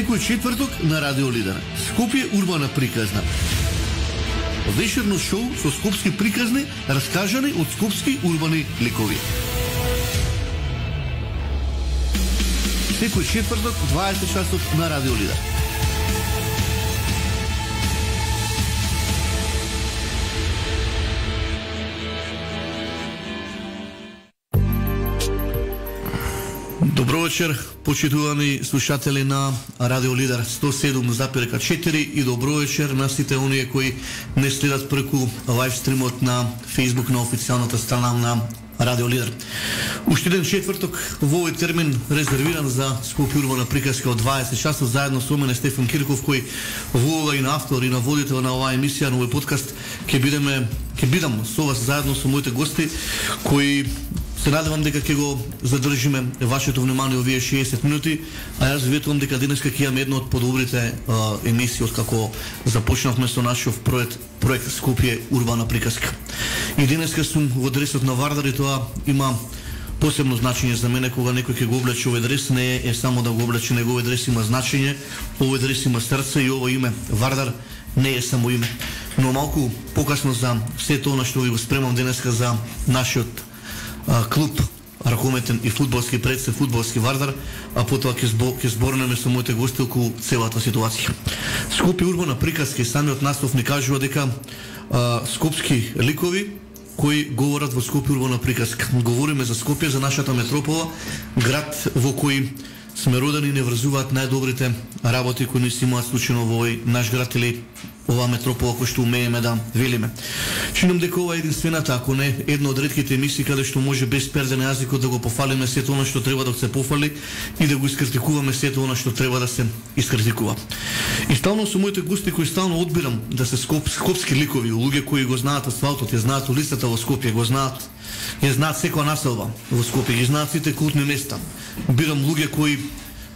Секој четврток на Радио Лидер. Скопје урбана приказна. Вечерно шоу со скопски приказни, раскажани од скопски урбани ликови. Секој четврток 20 часот на Радио Лидер. Добро вечер, почитувани слушатели на Радио Лидер 107,4 и добро вечер на сите оние кои не следат преку лайв стримот на Facebook на официјалната страна на Радио Лидер. Уште еден четврток во овој термин резервиран за Скопје урбана приказка од 20 часот заедно со мене Стефан Кирков, кој во и на автор и на водител на оваа емисија, на овој подкаст ќе бидам со вас заедно со моите гости кои се надевам дека ќе го задржиме вашето внимание овие 60 минути, а јас ветувам дека денеска ќе имаме една од подобрите емисии од како започнавме со нашиот проект Скопје урбана приказка. И денеска сум во дресот на Вардар и тоа има посебно значење за мене кога некој ќе го облече овој дрес, не е само да го облече, него овој дрес има значење, овој дрес има срце и ово име Вардар не е само име. Но малку покасно за се тоа што ви го спремам денеска за нашиот клуб ракометен и фудбалски представ фудбалски Вардар, а потоа ќе зборнеме со моите гости околу целата ситуација. Скопје урбана приказка и самиот наслов ни кажува дека скопски ликови кои говорат во Скопје урбана приказка. Говориме за Скопје, за нашата метропола, град во кој сме родени и не врзуваат најдобрите работи кои ни се имаат случајно во овој наш град или оваа метропола кој што умееме да велиме. Чинам дека ова е единствената, ако не една од ретките емисии каде што може без перде на јазикот да го пофалиме сето она што треба да се пофали и да го искритикуваме сето она што треба да се искритикува. И стално со моите гости кои стално одбирам да се скопски ликови, луѓе кои го знаат асфалтот, ја знаат улицата во Скопје, го знаат, ја знаат секоја населба во Скопје, ги знаат сите култни места. Бирам луѓе кои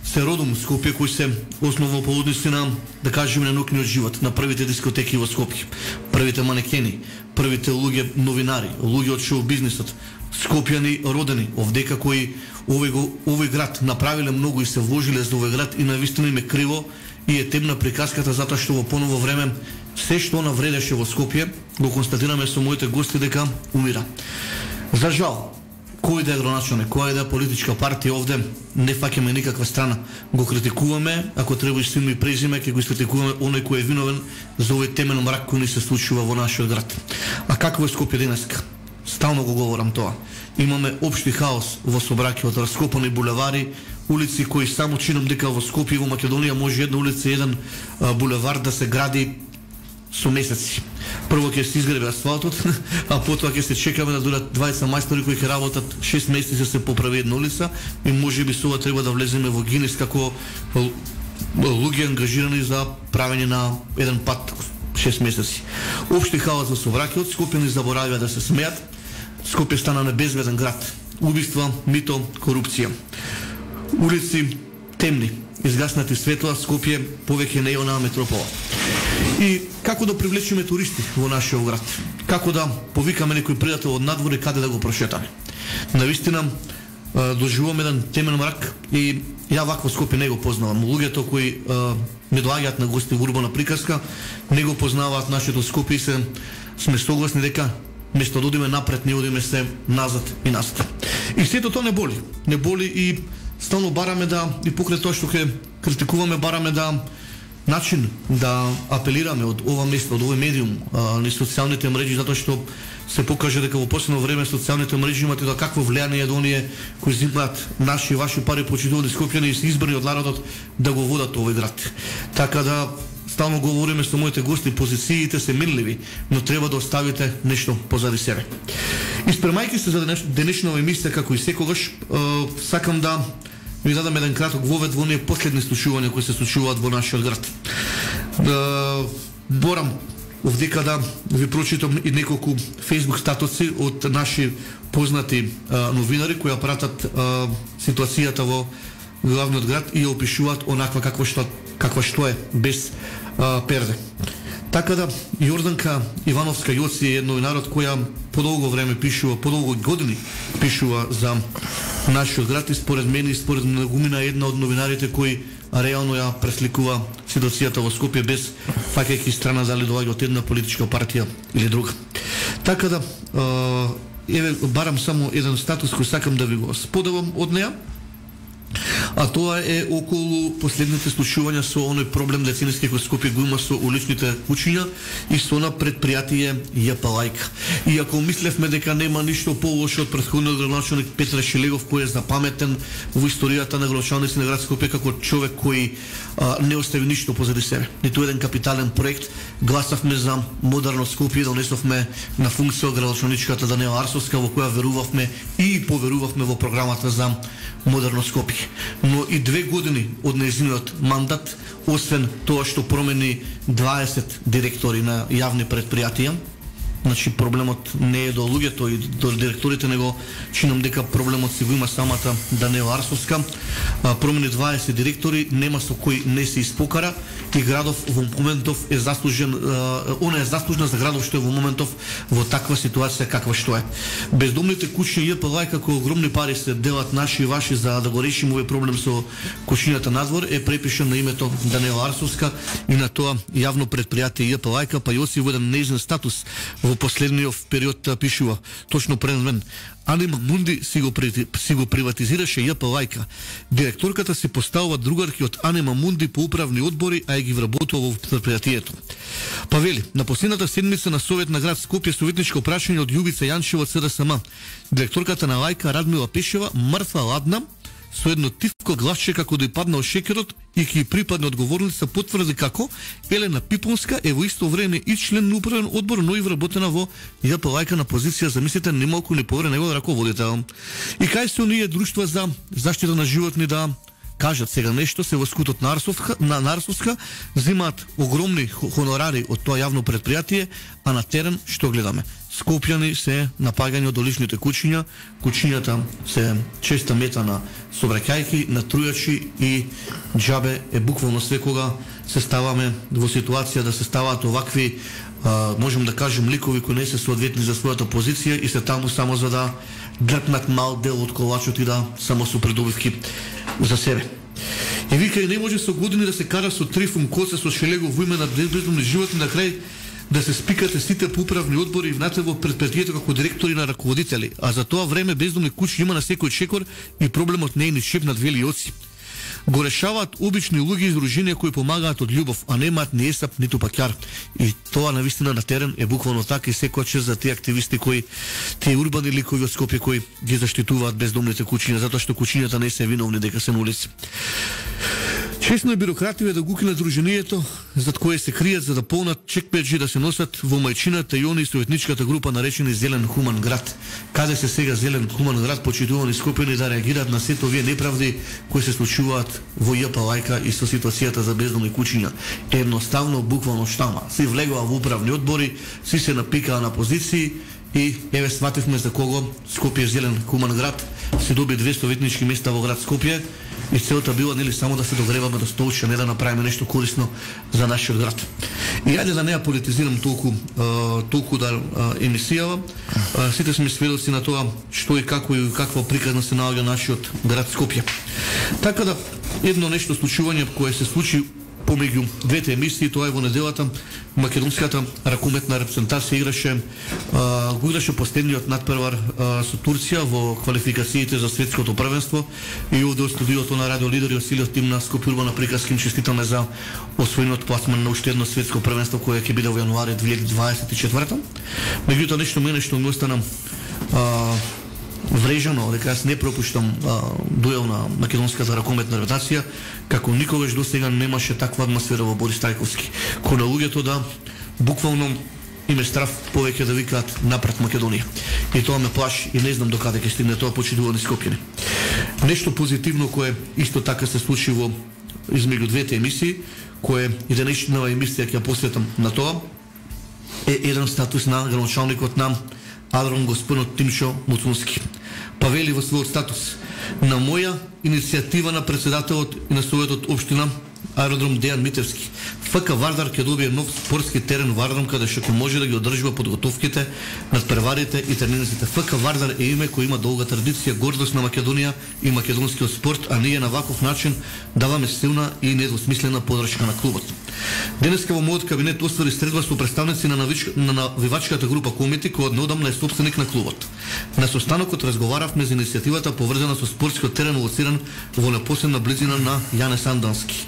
се родом в Скопје, кои се основно по односи на, да кажеме, на наукниот живот, на првите дискотеки во Скопје, првите манекени, првите луѓе новинари, луѓе од шоу бизнисот, скопјани родени, овдека кои овој град направиле многу и се вложиле за овој град и навистина им е криво и е темна приказката затоа што во поново време се што навредеше во Скопје, го констатираме со моите гости дека умира. За жал, кој да е граначалник, која да е политичка партија овде, не фаќаме никаква страна. Го критикуваме, ако треба и с име и презиме, ќе го критикуваме оној кој е виновен за овој темен мрак кој ни се случува во нашиот град. А какво е Скопје денеска? Стално го говорам тоа. Имаме општи хаос во сообраќајот, раскопани булевари, улици кои само чинам дека во Скопје и во Македонија може една улица, еден булевар да се гради со месеци. Прво ќе се изгреби асфалтот, а потоа ќе се чекаме да дојдат 20 мајстори кои ќе работат 6 месеци да се поправи една улица и можеби со ова треба да влеземе во Гинес како луѓе ангажирани за правење на еден пат 6 месеци. Општи хаос во сообраќајот, Скопјани заборавија да се смеат. Скопје стана небезбеден град. Убиства, мито, корупција. Улици темни, изгаснати светла, Скопје повеќе не е онаа метропола. И како да привлечеме туристи во нашиот град? Како да повикаме некој пријател од надвор и каде да го прошетаме? Навистина доживуваме еден темен мрак и ја вакво Скопје не го познавам. Луѓето кои ми доаѓаат на гости во урбана приказка не го познаваат нашето Скопје и сме согласни дека место да одиме напред, не одиме се назад и назад. И сето тоа не боли. Не боли и стално бараме да, и покрај тоа што ќе критикуваме, бараме да начин да апелираме од ова место, од овој медиум, на социјалните мрежи, затоа што се покаже дека во последно време социјалните мрежи имаат да какво влијание од оние кои зимаат наши и ваши пари почитувани Скопјани и се избрани од народот да го водат овој град. Така да стално говориме со моите гости, позициите се менливи, но треба да оставите нешто позади себе. И спремајќи се за денешнава емисија како и секогаш, сакам да ми дадам еден краток вовед во оние последни случувања кои се случуваат во нашиот град. Борам овдека да ви прочитам и неколку Facebook статуси од наши познати новинари кои пратат ситуацијата во главниот град и ја опишуваат онаква каква што е без перде. Така да, Јорданка Ивановска Јоци е новинарот која подолго време пишува, подолго години пишува за нашиот град и според мене и според многумина една од новинарите кои реално ја пресликува ситуацијата во Скопје без фаќајќи страна дали доаѓа од една политичка партија или друга. Така да еве барам само еден статус кој сакам да ви го споделам од неа. А тоа е околу последните случувања со оној проблем деценески кој Скопје го има со уличните куќиња и со на предпријатие ЈП Лајка. И ако мислевме дека нема ништо полошо од претходниот градоначалник Петар Шелегов, кој е запаметен во историјата на градоначалници на град Скопје како човек кој не остави ништо позади себе, ниту еден капитален проект, гласавме за модерно Скопје, донесовме на функција градоначалничката Даниела Арсовска, во која верувавме и поверувавме во програмата за модерно Скопје. Но и 2 години од нејзиниот мандат, освен тоа што промени 20 директори на јавни предпријатија, значи проблемот не е до луѓето и до директорите, него чинам дека проблемот си го има самата Даниела Арсовска. Промени 20 директори, нема со кој не се испокара и градов во моментов е заслужен, она е заслужна за градов што е во моментов во таква ситуација каква што е. Бездомните куќи ЈП Лајка, како огромни пари се делат наши и ваши за да го решиме овој проблем со куќињата надвор, е препишан на името Даниела Арсовска и на тоа јавно предпријатие ЈП Лајка, па Јосиф во еден нејзин статус во последниот период пишува точно пред мен: Анима Мунди си го приватизираше ЈП Лајка. Директорката си поставува другарки од Анима Мунди по управни одбори, а ги вработува во предпријатието. Па вели, на последната седмица на Совет на град Скопје советничко прашање од Јубица Јанчева од СДСМ. Директорката на Лајка Радмила Пешева мртва ладна, со едно тивко гласче како да ја паднал шекерот и ки припадне одговорница, потврди како Елена Пипонска е во исто време и член на управен одбор, но и вработена во ЈП Лајка на позиција, замислите, немалку не повере него раководител. И кај се оние друштва за заштита на животни да кажат сега нешто, се во скутот на Арсовска, взимаат огромни хонорари од тоа јавно предпријатие, а на терен што гледаме? Скопјани се напагање од уличните куќиња, куќињата се честа мета на собраќајки, на трујачи и џабе е буквално секога се ставаме во ситуација да се ставаат овакви, можем да кажем, ликови кои не се соодветни за својата позиција и се таму само за да дрпнат мал дел од колачот и да само со придобивки за себе. И вика, и не може со години да се кара со Трифун Коце, со Шелегов во име на бездомни животни, на крај да се спикате сите по управни одбори и внатре во предпријатието како директори на раководители, а за тоа време бездомни куќи има на секој чекор и проблемот не е ни шепнат вели оци. Го решаваат обични луѓе и издруженија кои помагаат од љубов, а немаат ни есап ниту паќар. И тоа навистина на терен е буквално така и секоја чест за тие активисти кои, тие урбани ликови од Скопје кои ги заштитуваат бездомните куќиња, затоа што куќињата не се виновни дека се на улици. Чесно е бирокративе да го кинат друженијето, зад кое се кријат за да полнат чекпеджи да се носат во мајчината и они советничката група наречени Зелен хуман град. Каде се сега Зелен хуман град, почитувани Скопјани, да реагираат на сето овие неправди кои се случуваат во ЈП Лајка и со ситуацијата за бездомни куќиња? Едноставно, буквално штама. Си влегува во управни одбори, си се напикаа на позиции и еве свативме за кого Скопје Зелен хуман град се доби 2 советнички места во град Скопје. И целта била нели само да се догреваме до столче, не да направиме нешто корисно за нашиот град. И ајде да не ја политизирам толку да емисијава. Сите сме сведоци на тоа што и како и каква приказна се наоѓа нашиот град Скопје. Така да едно нешто случување кое се случи помеѓу двете емисии, тоа е во неделата македонската ракометна репрезентација го играше последниот надпревар со Турција во квалификациите за светското првенство и овде од студиото на Радио Лидер и осилиот тим на Скопје Урбана приказки им честитаме за освоениот пласман на уште едно светско првенство кое ќе биде во јануари 2024. Меѓутоа нешто мене што ми остана врежано, дека јас не пропуштам дуел на македонската ракометна репрезентација, како никогаш до сега немаше таква атмосфера во Борис Тајковски, кој на луѓето да буквално им е страв повеќе да викаат напред Македонија. И тоа ме плаши и не знам до каде ќе стигне тоа, почитувани Скопјани. Нешто позитивно кое исто така се случи во измеѓу двете емисии, кое и денешната емисија ќе посветам на тоа, е еден статус на градоначалникот на Адрон господинот Тимчо Муцунски. Па вели во својот статус: на моја иницијатива на председателот и на Советот општина Аеродром Дејан Митевски, ФК Вардар ќе добие нов спортски терен Вардар, каде што може да ги одржува подготовките над преварите и тренинзите. ФК Вардар е име кој има долга традиција, гордост на Македонија и македонскиот спорт, а ние на ваков начин даваме силна и недвосмислена подршка на клубот. Денеска во мојот кабинет оствари средба со представници на навивачката група Комити, која однеодамна е собственик на клубот. На состанокот разговаравме за иницијативата поврзана со спортскиот терен лоциран во непосредна близина на Јанес Андански.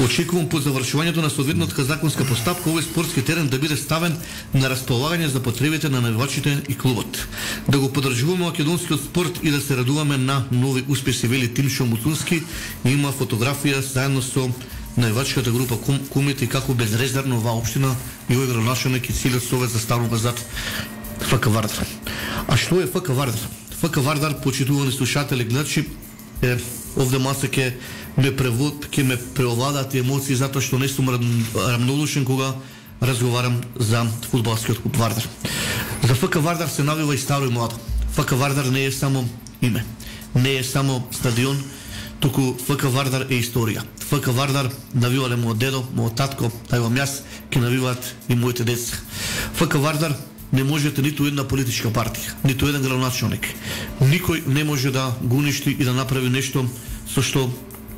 Очекувам по завршувањето на соодветната законска постапка овој спортски терен да биде ставен на располагање за потребите на навивачите и клубот. Да го поддржуваме македонскиот спорт и да се радуваме на нови успеси, вели Тимшо Муцунски. Има фотографија заедно со навивачката група Комити како безрезервно оваа општина и овој градоначалник и целиот совет застанува зад ФК Вардар. А што е ФК Вардар? ФК Вардар, почитувани слушатели, гледачи, овде малце ќе ме преовладат емоции затоа што не сум рамнодушен кога разговарам за фудбалскиот клуб Вардар. За ФК Вардар се навива и старо и младо. ФК Вардар не е само име, не е само стадион, туку ФК Вардар е историја. ФК Вардар навивале мојот дедо, мојот татко, тајвам јас, ќе навиваат и моите деца. ФК Вардар не можете ниту една политичка партија, ниту еден градоначалник. Никој не може да го уништи и да направи нешто со што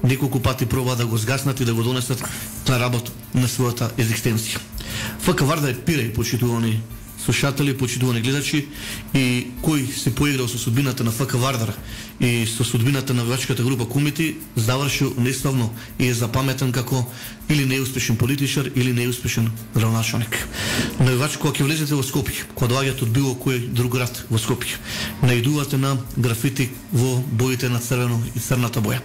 неколку пати проба да го згаснат и да го донесат на работ на својата екзистенција. ФК Вардар е пиреј, почитувани слушатели, почитувани гледачи, и кој се поиграл со судбината на ФК Вардар и со судбината на навивачката група Комити, завршил неславно и е запаметен како или неуспешен политичар или неуспешен градоначалник. Навивач, кога ќе влезете во Скопје, кога доаѓате од било кој друг град во Скопје, наидувате на графити во боите на црвено и црната боја.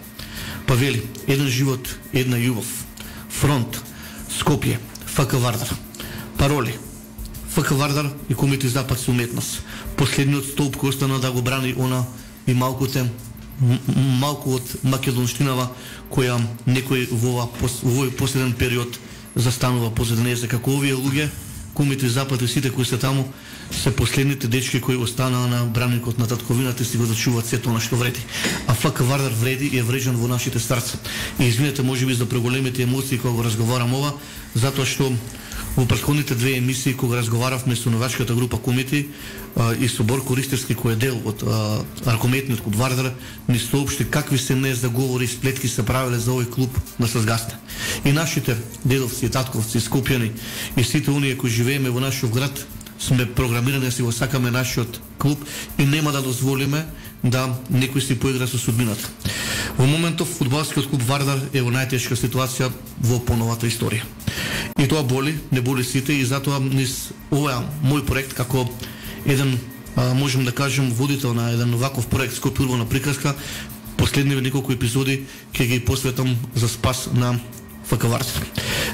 Па вели, еден живот, една љубов, фронт, Скопје, ФК Вардар. Пароли: ФК Вардар и Комити Запад со уметност. Последниот столб кој остана да го брани она и малку од македонштинава која некој во овој последен период застанува позади неја. Како овие луѓе, Комити Запад и сите кои се таму се последните дечки кои останаа на браникот на татковината и си го зачуваат сето она што вреди. А ФК Вардар вреди и е врежан во нашите срца. И извинете можеби за преголемите емоции кога го разговарам ова, затоа што во претходните две емисии кога разговаравме со навивачката група Комити и со Борко Ристерски кој е дел од ракометниот клуб Вардар, ни соопшти какви се не заговори и сплетки се правеле за овој клуб на Сазгасна. И нашите дедовци и татковци, скопјани и сите оние кои живееме во нашиот град сме програмирани да си го сакаме нашиот клуб и нема да дозволиме да некој си поигра со судбината. Во моментов фудбалскиот клуб Вардар е во најтешка ситуација во поновата историја. И тоа боли, не боли сите, и затоа низ овој мој проект како еден, можем да кажем, водител на еден ваков проект Скопје урбана приказка, последниве неколку епизоди ќе ги посветам за спас на ФК Вардар.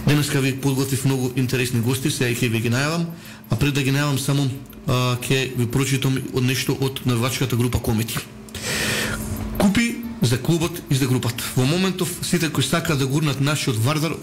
Денеска ви подготвив многу интересни гости, сега ќе ви ги најавам, а пред да ги најавам само ќе ви прочитам од нешто од навивачката група Комити. Купи за клубот и за групата. Во моментов сите кои сакаат да гурнат нашиот Вардар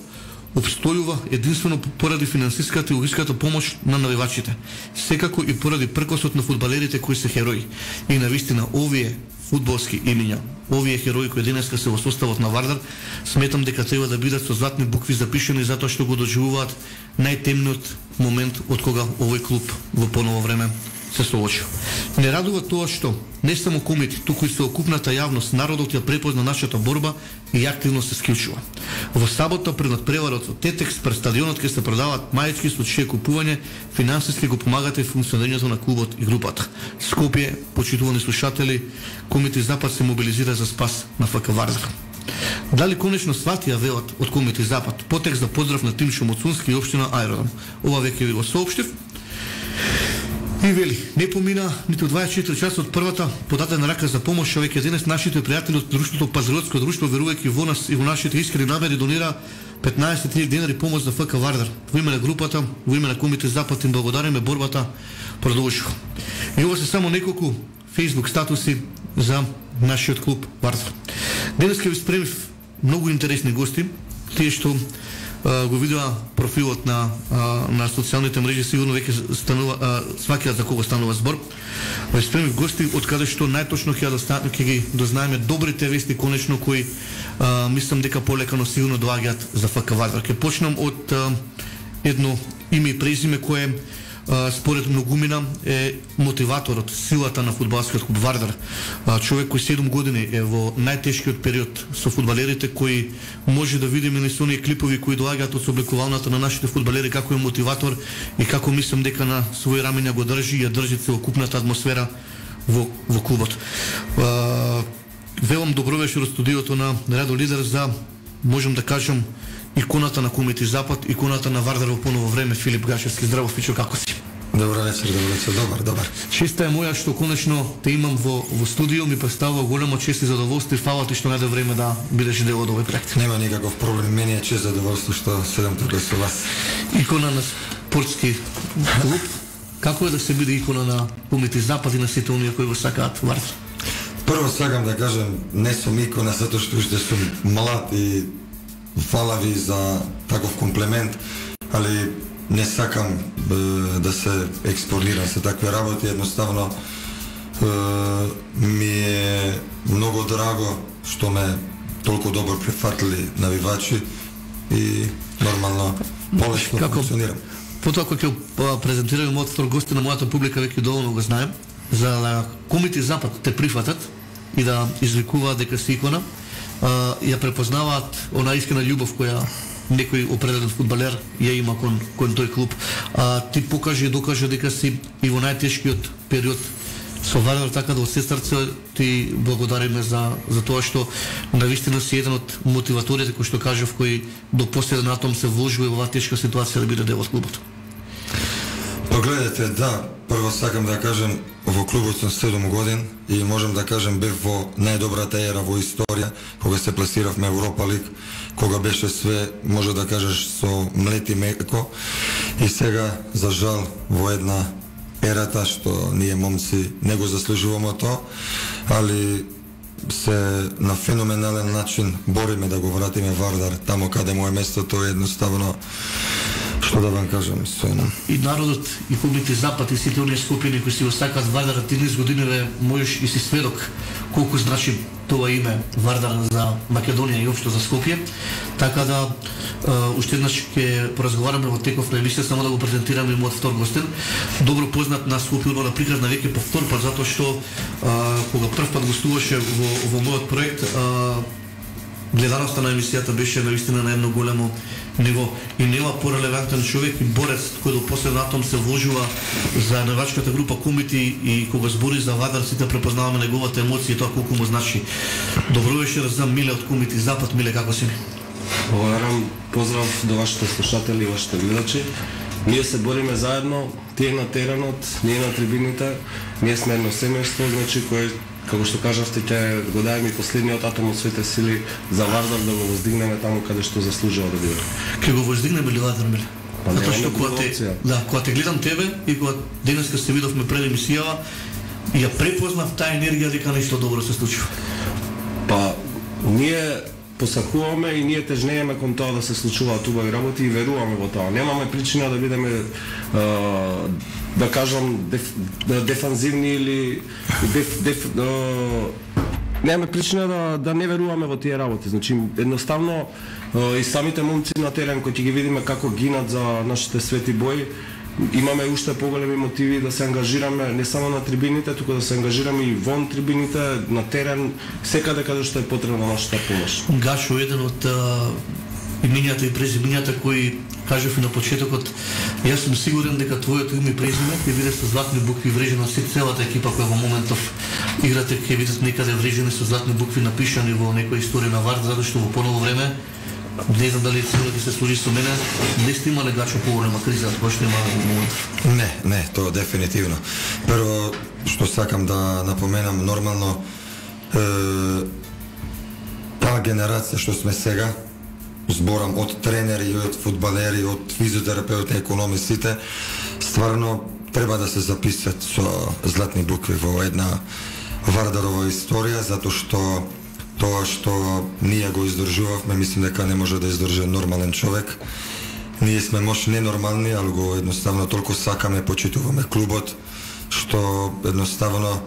обстојува единствено поради финансиската и логиската помош на навивачите. Секако и поради пркосот на фудбалерите кои се херои. И навистина овие фудбалски имиња, овие херои кои денеска се во составот на Вардар, сметам дека треба да бидат со златни букви запишани затоа што го доживуваат најтемниот момент од кога овој клуб во поново време се соочил. Не радува тоа што не само Комити, туку и целокупната јавност, народот ја препозна нашата борба и активно се склучува. Во сабота пред надпреварот со Тетекс пред стадионот ќе се продаваат мајчки со чие купување финансиски го помагате функционирањето на клубот и групата. Скопје, почитувани слушатели, Комити Запад се мобилизира за спас на ФК Вардар. Дали конечно сватија велат од Комити Запад? Потекст за поздрав на Тимшо Муцунски и општина Ајродром. Ова веќе ви го соопштив. И вели, не помина ниту 24 часа од првата подадена рака за помош, веќе денес нашите пријатели од друштвото Пазаротско друштво, верувајќи во нас и во нашите искрени намери, донира 15.000 денари помош за ФК Вардар. Во име на групата, во име на Комити Запад им благодариме, борбата продолжува. И ова се само неколку Facebook статуси за нашиот клуб Вардар. Денес ќе ви спремив многу интересни гости, тие што го видува профилот на социјалните мрежи, сигурно веќе сваќаат за кого станува збор. Спремни гости од каде што најточно ќе ги дознаеме добрите вести конечно кои мислам дека полекано сигурно доаѓаат за ФК Вардар. Ќе почнам од едно име и презиме кое според многумина е мотиваторот, силата на фудбалскиот клуб Вардар. Човек кој 7 години е во најтешкиот период со фудбалерите, кои може да видиме на оние клипови кои доаѓаат од собликувањата на нашите фудбалери, како е мотиватор и како мислам дека на своји рамења го држи и ја држи целокупната атмосфера во клубот. Велам добро вечер од студиото на Радио Лидер за, можам да кажам, иконата на Комити Запад, иконата на Вардар во поново време, Филип Гашевски. Здраво, Фичо, како си? Добро вечер, добар. Честа е моја што конечно те имам во студио, ми представува големо чест и задоволство и фала ти што најде време да бидеш дел од овој проект. Нема никаков проблем, мене е чест задоволство што седам тука со вас. Икона на спортски клуб. Како е да се биде икона на Комити Запад и на сите оние кои го сакаат Вардар? Прво сакам да кажам, не сум икона затоа што уште сум млад и фала ви за таков комплимент, али не сакам да се експонирам со такви работи, едноставно ми е многу драго што ме толку добро прифатили навивачи и нормално полесно функционирам. Потоа кога ќе презентираме мојот втор гости на мојата публика, веќе доволно го знаем, за да Комити Запад те прифатат и да извикуваат дека си икона, ја препознаваат она искрена љубов која некој определен фудбалер ја има кон тој клуб. Ти покажи и докажи дека си и во најтешкиот период со Вардар, така да од се срце ти благодариме за тоа што навистина си еден од мотиваторите, кој што кажав, кој до последен атом се вложува во оваа тешка ситуација да биде дел од клубот. Погледате, да, прво сакам да кажем, во клубот сум 7 години и можам да кажем бев во најдобрата ера во историја, кога се пласиравме Европа Лиг, кога беше све, може да кажеш, со млет и меко, и сега, за жал, во една ерата што ние момци не го заслужуваме тоа, али се на феноменален начин бориме да го вратиме Вардар тамо каде му е местото, едноставно што да вам кажам, стојно. И народот, и Комити Запад, и сите оние скопини кои си го сакаат Вардар, 13 години можеш и си сведок колку значи тоа име Вардар за Македонија и општо за Скопје. Така да уште еднаш ќе поразговараме во теков на емисија, само да го презентираме мојот втор гостин. Добро познат на Скопје Урбана приказна веќе по втор пат, затоа што кога прв пат гостуваше во мојот проект, гледаноста на емисијата беше навистина на едно големо ниво и нема порелевантен човек и борец кој до последен атом се вложува за навачката група Комити и кога збори за Вардар сите препознаваме неговата емоција и тоа колку му значи. Добро вечер за Миле од Комити Запад. Миле, како си? Благодарам, поздрав до вашите слушатели и вашите гледачи. Ние се бориме заедно, тие на теренот, ние на трибините, ние сме едно семејство, значи кој, како што кажавте, ќе го дајме и последниот атом од своите сили за Вардар да го воздигнеме таму каде што заслужува да биде. Ќе го воздигнеме ли Вардар, Миле? Затоа што кога те гледам тебе и кога денеска се видовме пред емисијава, ја препознав таа енергија дека нешто добро се случува. Па, ние посакуваме и ние тежнееме кон тоа да се случуваат убави работи и веруваме во тоа. Немаме причина да бидеме да кажам дефанзивни или немаме причина да не веруваме во тие работи. Значи едноставно и самите момци на терен кои ќе ги видиме како гинат за нашите свети бои, имаме уште поголеми мотиви да се ангажираме не само на трибините, туку да се ангажираме и вон трибините, на терен, секаде каде што е потребна нашата помош. Гашо еден од имињата и презимињата кои кажав и на почетокот, јас сум сигурен дека твоето име и презиме ќе биде со златни букви врежено со целата екипа која во моментов играте, ќе видат некаде врежени со златни букви напишани во некоја историја на Вардар, затоа што во поново време не знам дали сигурно ќе се служи со мене, не сте имале Гачо поголема криза која што има во моментов. Не, тоа дефинитивно. Прво што сакам да напоменам, нормално таа генерација што сме сега, зборам од тренери, од фудбалери, од физиотерапеути, економисите, стварно треба да се записат со златни букви во една Вардарова историја, затоа што тоа што ние го издржувавме, мислам дека не може да издржи нормален човек. Ние сме може ненормални, али го едноставно толку сакаме, почитуваме клубот, што едноставно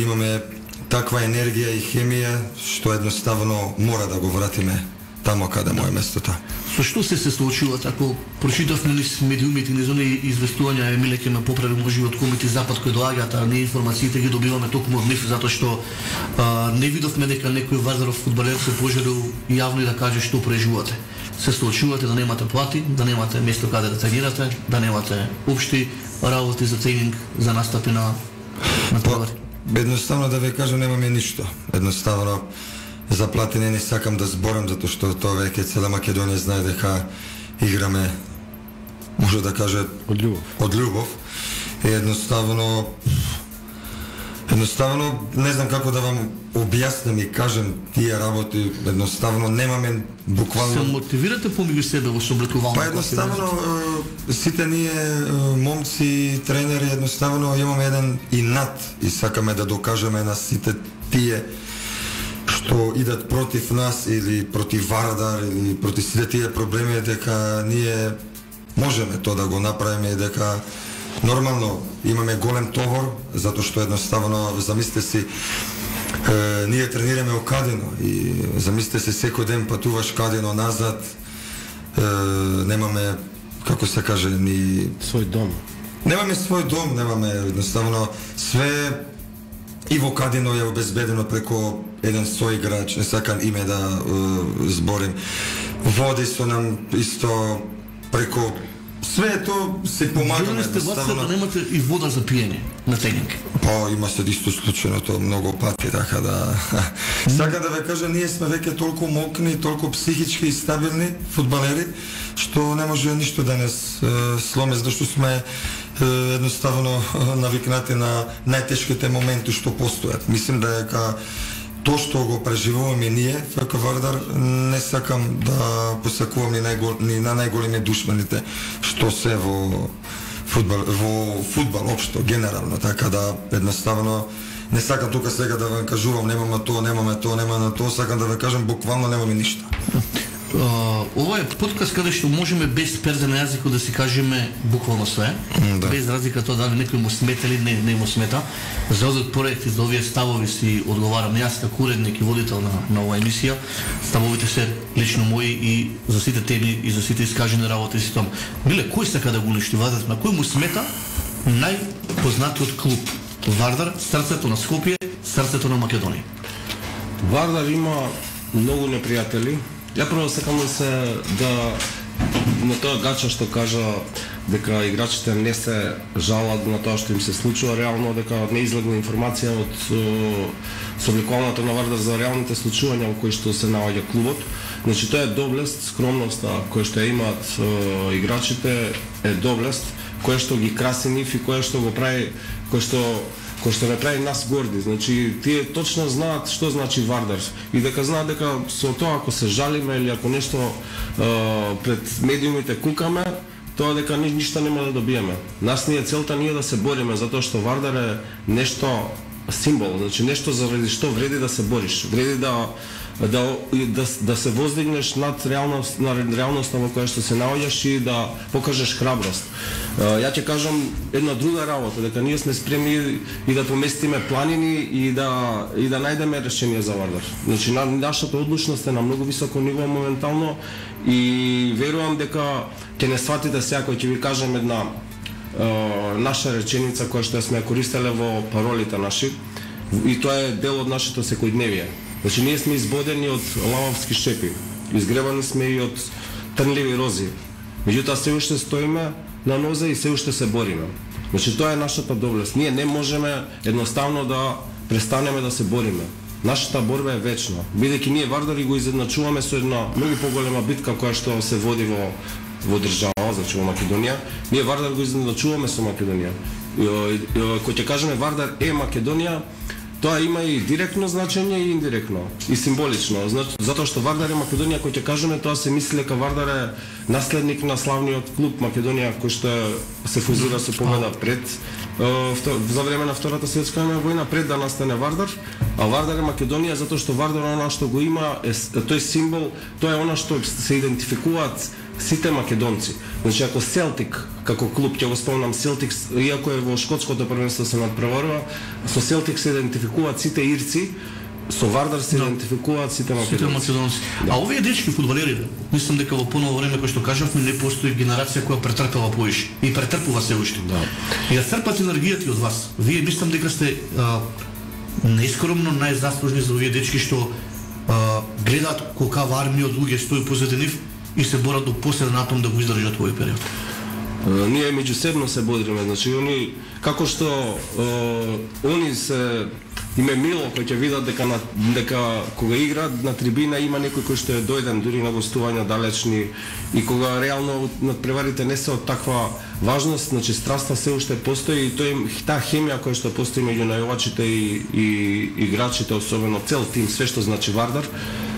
имаме таква енергија и хемија, што едноставно мора да го вратиме тамо каде му е местото. Со што се случува тако? Прочитавме низ медиумите, низ оние известувања, Емиле ќе ме поправи може од Комити Запад кои доаѓаат, а не информациите ги добиваме токму од нив, затоа што не видовме дека некој Вардаров фудбалер се пожелил јавно и да каже што преживувате. Се случувате да немате плати, да немате место каде да тренирате, да немате општи работи за тренинг, за настапи на товари. Едноставно да ви кажам, немаме ништо. Едноставно за плати не сакам да зборам, затоа што тоа веќе цела Македонија знае дека играме, може да каже, од љубов. И едноставно не знам како да вам објаснам и кажем тие работи, едноставно немаме буквално... Се мотивирате помеѓу себе во сооблекување? Па едноставно сите ние момци, тренери, едноставно имаме еден инат и сакаме да докажеме на сите тие што идат против нас или против Вардар или против сите тие проблеми, дека ние можеме тоа да го направиме и дека нормално имаме голем товар, затоа што едноставно замислете си ние тренираме во Кадино и замислете се секој ден патуваш Кадино назад, немаме, како се каже, ни свој дом. Немаме свој дом, немаме едноставно све и во Кадино е обезбедено преку еден соиграч, не сакам име да зборим. Води со нам исто преку све тоа се помагаме едноставно. Да немате и вода за пиење на тренинг. Па има се исто случајно тоа многу пати, така да сакам да ве кажам, ние сме веќе толку мокни, толку психички и стабилни фудбалери, што не може ништо да нас сломе, зашто сме едноставно навикнати на најтешките моменти што постојат. Мислим дека тоа што го преживуваме ние, ФК Вардар, не сакам да посакувам ни на најголеми душманите што се во фудбал општо, генерално, така да едноставно не сакам тука сега да ве кажувам немаме тоа, сакам да ве кажам буквално немаме ништо. Ова е подкаст каде што можеме без перде на јазикот да си кажеме буквално све, без разлика тоа дали некој му смета или не му смета. За овој проект и за овие ставови си одговарам јас како уредник и водител на оваа емисија. Ставовите се лично мои и за сите теми и за сите искажени работи си том. Биле, кој сака да го уништи Вардар? На кој му смета најпознатиот клуб? Вардар, срцето на Скопје, срцето на Македонија. Вардар има многу непријатели. Ја прво сакам да на тоа Гача што кажа дека играчите не се жалат на тоа што им се случува, реално дека не излегла информација од собликувањето на Вардар за реалните случувања во кои што се наоѓа клубот. Значи тоа е доблест, скромноста која што имаат играчите е доблест која што ги краси нив и која што го прави, кој што не прави нас горди. Значи тие точно знаат што значи Вардар и дека знаат дека со тоа ако се жалиме или ако нешто пред медиумите кукаме, тоа дека ништо нема да добиеме. Нас ни е целта ние да се бориме затоа што Вардар е нешто символ, значи нешто заради што вреди да се бориш, вреди да се воздигнеш над реалноста во која што се наоѓаш и да покажеш храброст. Ја ќе кажам една друга работа, дека ние сме спремни и да поместиме планини и да најдеме решение за Вардар. Значи нашата одлучност е на многу високо ниво моментално и верувам дека ќе не сватите сега кој ќе ви кажем една наша реченица која што сме користеле во паролите наши и тоа е дел од нашето секојдневие. Значи ние сме избодени од лавовски шепи, изгребани сме и од трнливи рози. Меѓутоа се уште стоиме на нозе и се уште се бориме. Значи тоа е нашата доблест. Ние не можеме едноставно да престанеме да се бориме. Нашата борба е вечна. Бидејќи ние Вардари го изедначуваме со една многу поголема битка која што се води во држава, значи во Македонија. Ние Вардар го изедначуваме со Македонија. Кој ќе кажеме Вардар е Македонија, тоа има и директно значење и индиректно, и символично. Затоа што Вардар е Македонија, кој ќе кажеме, тоа се мисли дека Вардар е наследник на славниот клуб Македонија, кој што се фузира со победа пред за време на Втората светска војна пред да настане Вардар, а Вардар е Македонија затоа што Вардар е она што го има, тој символ, тоа е она што се идентификуваат сите македонци. Значи ако Селтик како клуб, ќе го спомнам Селтик, иако е во шкотското првенство се надпреварува, со Селтик се идентификуваат сите ирци, со Вардар се идентификуваат сите македонци. А овие дечки фудбалери, мислам дека во поново време кој што кажавме не постои генерација која претрпела поише и претрпува се уште. Да. И да црпат енергијата од вас. Вие мислам дека сте неискромно најзаслужни за овие дечки што гледаат колкава армија од луѓе стои позади нив и се борат до последен атом да го издржат овој период. Ние меѓусебно се бодриме, значи они како што они се име мило кој ќе видат дека кога играат на трибина има некој кој што е дојден дури на гостувања далечни и кога реално надпреварите не се од таква важност, значи страста се уште постои и таа хемија која што постои меѓу најувачите и играчите, особено цел тим, све што значи Вардар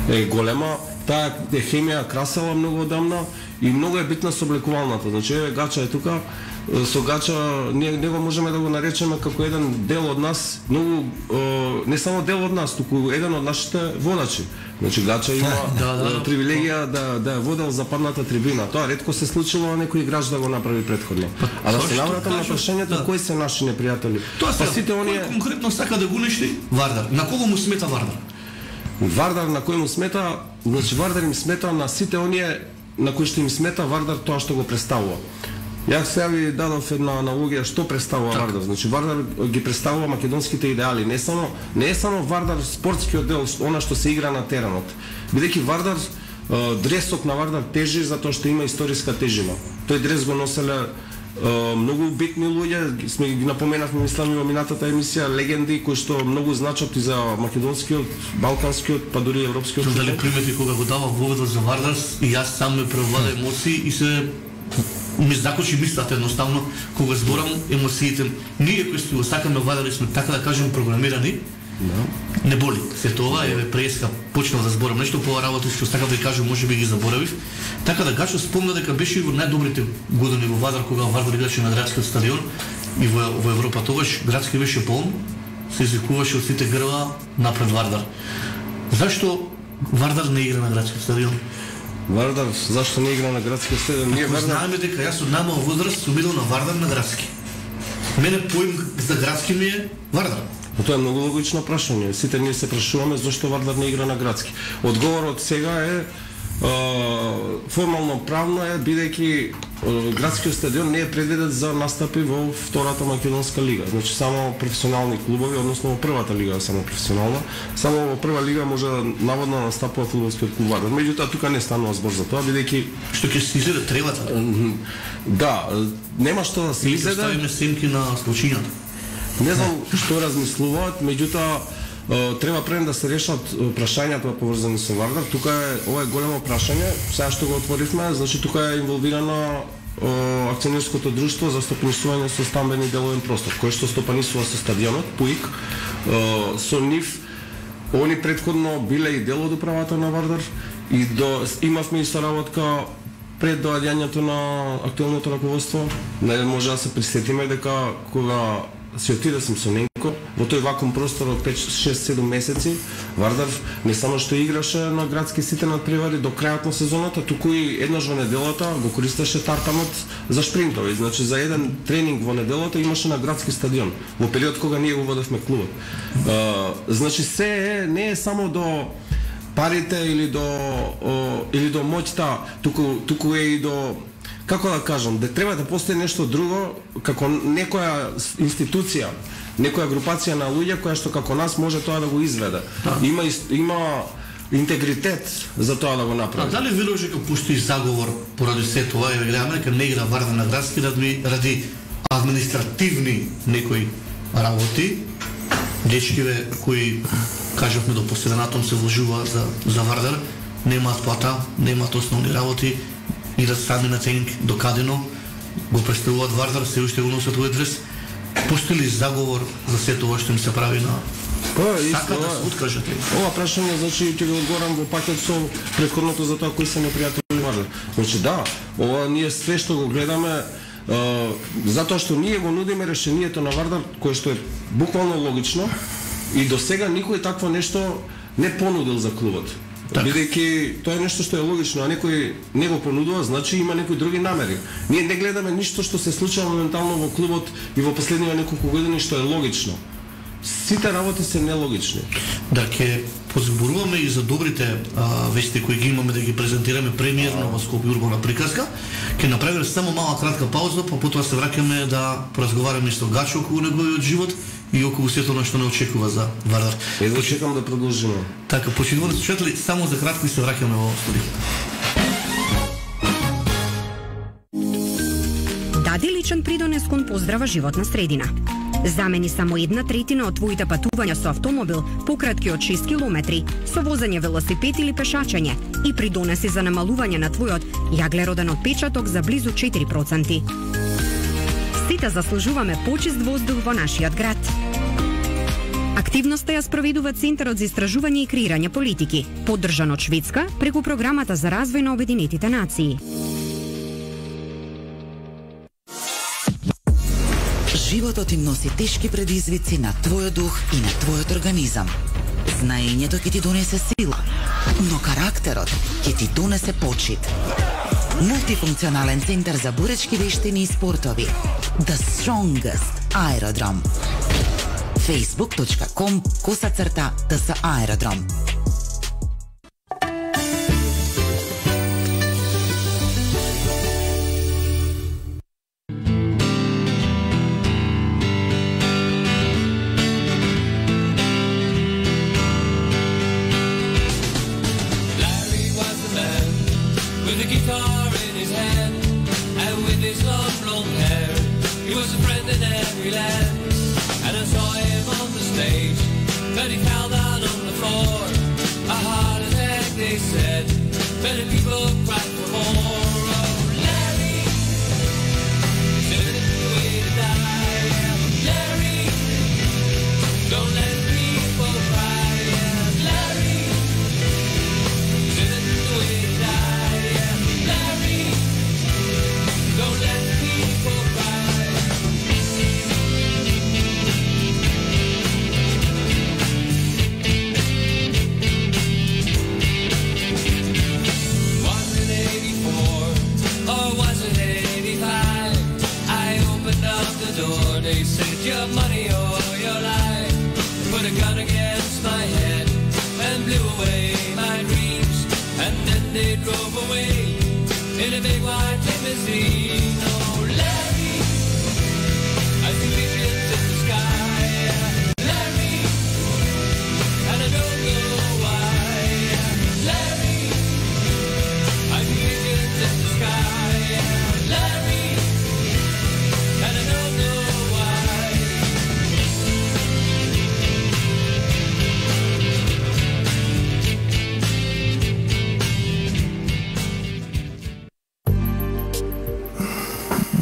е голема. Таа хемија красела многу одамна и многу е битна соблекувалната. Значи Гача е тука, со Гача ние го можеме да го наречеме како еден дел од нас, многу не само дел од нас, туку еден од нашите водачи. Значи Гача има привилегија да водел западната трибина. Тоа ретко се случило на некој играч да го направи претходно. А да се навратам на прашањето кои се наши непријатели. Тоа сите оние конкретно сака да го уништи Вардар. На кого му смета Вардар? Вардар на кој му смета, значи Вардар им смета на сите оние на кои што им смета Вардар тоа што го представува. Јас сега ви дадов една аналогија што представува Вардар. Значи Вардар ги представува македонските идеали, не е само Вардар спортскиот дел, она што се игра на теренот. Бидејќи Вардар дресот на Вардар тежи затоа што има историска тежина. Тој дрес го носеле многу битни луѓе, сме ги напоменавме мислам и во минатата емисија легенди кои што многу значат и за македонскиот, балканскиот, па дури европскиот фудбал. Дали примети кога го дава воведот за Вардар и јас сам ме превлада емоции и се ми закочи мислата едноставно кога зборам емоциите. Ние кои сме го сакаме Вардар и сме така да кажем програмирани. Не боли. Се тоа преска почнав да зборам нешто по работи што сакав да ви кажам, можеби ги заборавив. Така да Гачо спомна дека беше во најдобрите години во Вардар кога Вардар играше на градскиот стадион и во Европа тогаш градски беше полн, се извикуваше од сите грла напред Вардар. Зашто Вардар не игра на градскиот стадион? Вардар зашто не игра на градскиот стадион? Ние знаеме дека јас од намал возраст сум видел на Вардар на градски. Мене поим за градски ми е Вардар. Тоа е многу логично прашање. Сите ние се прашуваме зашто Вардар не игра на градски. Одговорот сега е формално правно е бидејќи градскиот стадион не е предвиден за настапи во втората македонска лига. Значи само професионални клубови, односно во првата лига е само професионална. Само во прва лига може да наводно настапува фудбалскиот клуб Вардар. Меѓутоа тука не станува збор за тоа бидејќи што ќе се изеде тревата. Да, нема што да се изеде. Ставиме снимки на случајата. Не знам што размислуваат, меѓутоа треба пред да се решат прашањата поврзани со Вардар. Тука ова е големо прашање, сега што го отворивме, значи тука е инволвирано акционерското друштво за стопанисување со стамбен и деловен простор, кој што стопанисува со стадионот ПУИК. Со нив они претходно биле и дел од управата на Вардар и имавме и соработка пред доаѓањето на актуелното раководство. Не може да се присетиме дека кога се отиде сум со Ненко во тој вакуум простор од 5-6-7 месеци, Вардар не само што играше на градски сите надпревари до крајот на сезоната, туку и еднаш во неделата го користеше тартанот за шпринтови. Значи за еден тренинг во неделата имаше на градски стадион во период кога ние го водевме клубот. Значи се не е само до парите или до моќта, туку е и до, како да кажам, да треба да постои нешто друго, како некоја институција, некоја групација на луѓе која што како нас може тоа да го изведе. Има интегритет за тоа да го направи. А дали веруваш дека постои заговор поради се тоа и гледаме дека не игра Вардар на градски ради административни некои работи, дечкиве кои кажавме до последен атом се вложува за Вардар, немаат плата, немаат основни работи, идат сами на тренинг докадено, го представуваат Вардар, се уште го носат овој дрес. Постои ли заговор за се тоа што им се прави на сака да се откажат? Ова прашање, значи, ќе го одговорам во пакет со претходното за тоа кои се непријатели Вардар. Значи да, ова ние све што го гледаме, затоа што ние го нудиме решението на Вардар, кое што е буквално логично, и до сега никој такво нешто не понудил за клубот. Бидејќи тоа е нешто што е логично, а некој не го понудува, значи има некои други намери. Ние не гледаме ништо што се случува моментално во клубот и во последниве неколку години што е логично. Сите работи се нелогични. Да, ќе позборуваме и за добрите вести кои ги имаме да ги презентираме премиерно во Скопје урбана приказка. Ќе направиме само мала кратка пауза, па потоа се враќаме да поразговараме со Гачо околу неговиот живот и околу сето што не очекува за Вардар. Едва чекам да продолжиме. Така, почитувани слушатели, само за кратко и се враќаме во студио. Дади личен придонес кон поздрава животна средина. Замени само 1/3 од твоите патувања со автомобил пократки од 6 километри, со возење велосипед или пешачење и придонеси за намалување на твојот јаглероден отпечаток за близу 4%. Сите заслужуваме почист воздух во нашиот град. Активноста ја спроведува Центарот за истражување и креирање политики, поддржан од Шведска преку Програмата за развој на Обединетите нации. Животот им носи тешки предизвици на твојот дух и на твојот организам. Знаењето ќе ти донесе сила, но карактерот ќе ти донесе почит. Мултифункционален центар за боречки вештини и спортови. The Strongest Aerodrome. facebook.com/TS Aerodrome.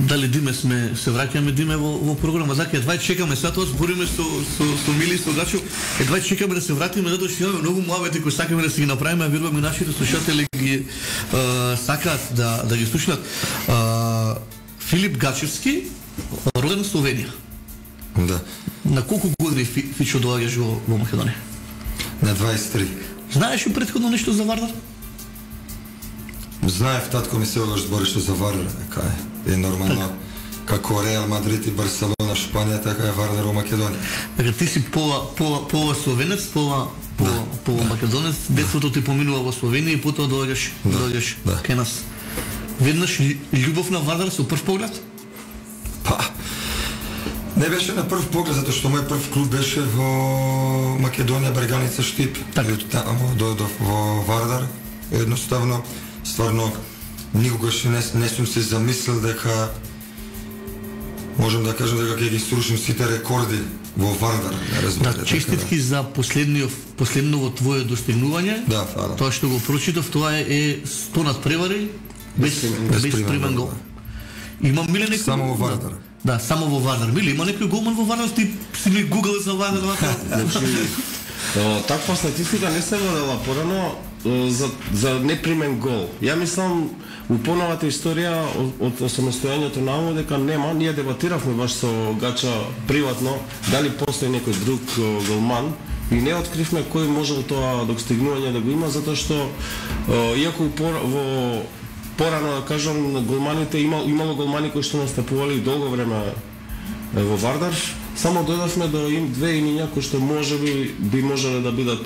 Дали Диме се враќаме Диме во програма, зака едва чекаме сега тоа збориме со Мили со Гачо, едва чекаме да се вратиме затоа што имаме многу муабети кои сакаме да си ги направиме, а верувам и нашите слушатели ги сакаат да ги слушнат. Филип Гачевски, роден во Словенија. Да. На колку години Фичо доаѓаш во Македонија? На 23. Знаеш ли претходно нешто за Вардар? Знаев, татко ми се огаш збореше за Вардар, така е нормално. Како Реал Мадрид и Барселона Шпанија, така е Вардар во Македонија. Така ти си пола словенец, пола македонец, детството ти поминува во Словенија и потоа доаѓаш кај нас. Веднаш љубов на Вардар со прв поглед? Па, не беше на прв поглед, затоа што мој прв клуб беше во Македонија, Берганица Штип. Така. Таму дојдов во Вардар. Едноставно, стварно, никогаш не сум се замислил дека можам да кажам дека ќе ги срушим сите рекорди во Вардар. Да, честитки за последново твое достигнување. Да, фала. Тоа што го прочитав, тоа е 100 надпревари без примен гол. Има миле некој само во Вардар. Да, само во Вардар. Миле, има некој голман во Вардар, ти си ли гугл за Вардар? Таква статистика не се водела порано. за непримен гол. Ја мислам у поновата историја од осамостојањето на дека нема, ние дебатиравме баш со Гача приватно дали постои некој друг голман и не откривме кој можел тоа достигнување да го има, затоа што иако во порано да кажам голманите имало голмани кои што настапували долго време во Вардар, само дојдовме до две имиња кои што можеби би можеле да бидат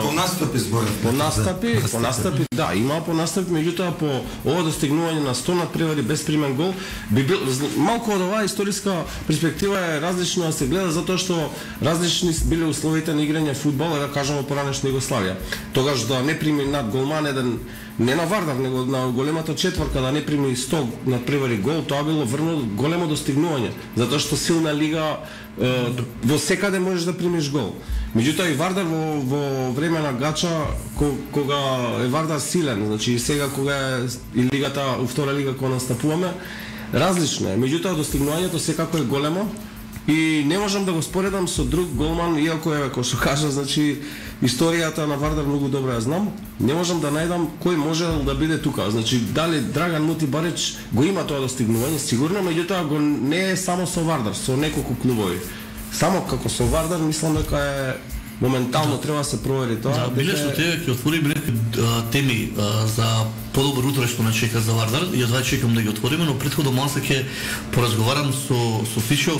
по настапи зборев. По настапи, да, има по настапи, меѓутоа по ова достигнување на 100 надпревари без примен гол би бил малку од оваа историска перспектива е различна да се гледа затоа што различни биле условите на играње фудбал, да кажеме поранешна Југославија. Тогаш да не прими над голман еден не на Вардар, него на големата четврка да не прими 100 надпревари гол, тоа било врно големо достигнување, затоа што силна лига во секаде можеш да примиш гол. Меѓутоа и Вардар во време на Гача кога е Вардар силен, значи и сега кога е и лигата, втора лига кога настапуваме, различно е. Меѓутоа достигнувањето секако е големо и не можам да го споредам со друг голман, иако е кој што кажа, значи историјата на Вардар многу добро ја знам, не можам да најдам кој може да биде тука. Значи дали Драган Мути Барич го има тоа достигнување, сигурно, меѓутоа го не е само со Вардар, со неколку клубови. Само како со Вардар мислам дека е моментално треба да се провери тоа. Биле со тебе ќе отвориме некои теми за подобро утро што не чека за Вардар. Ја два чекам да ги отвориме, но претходно малку ќе поразговарам со Фичо.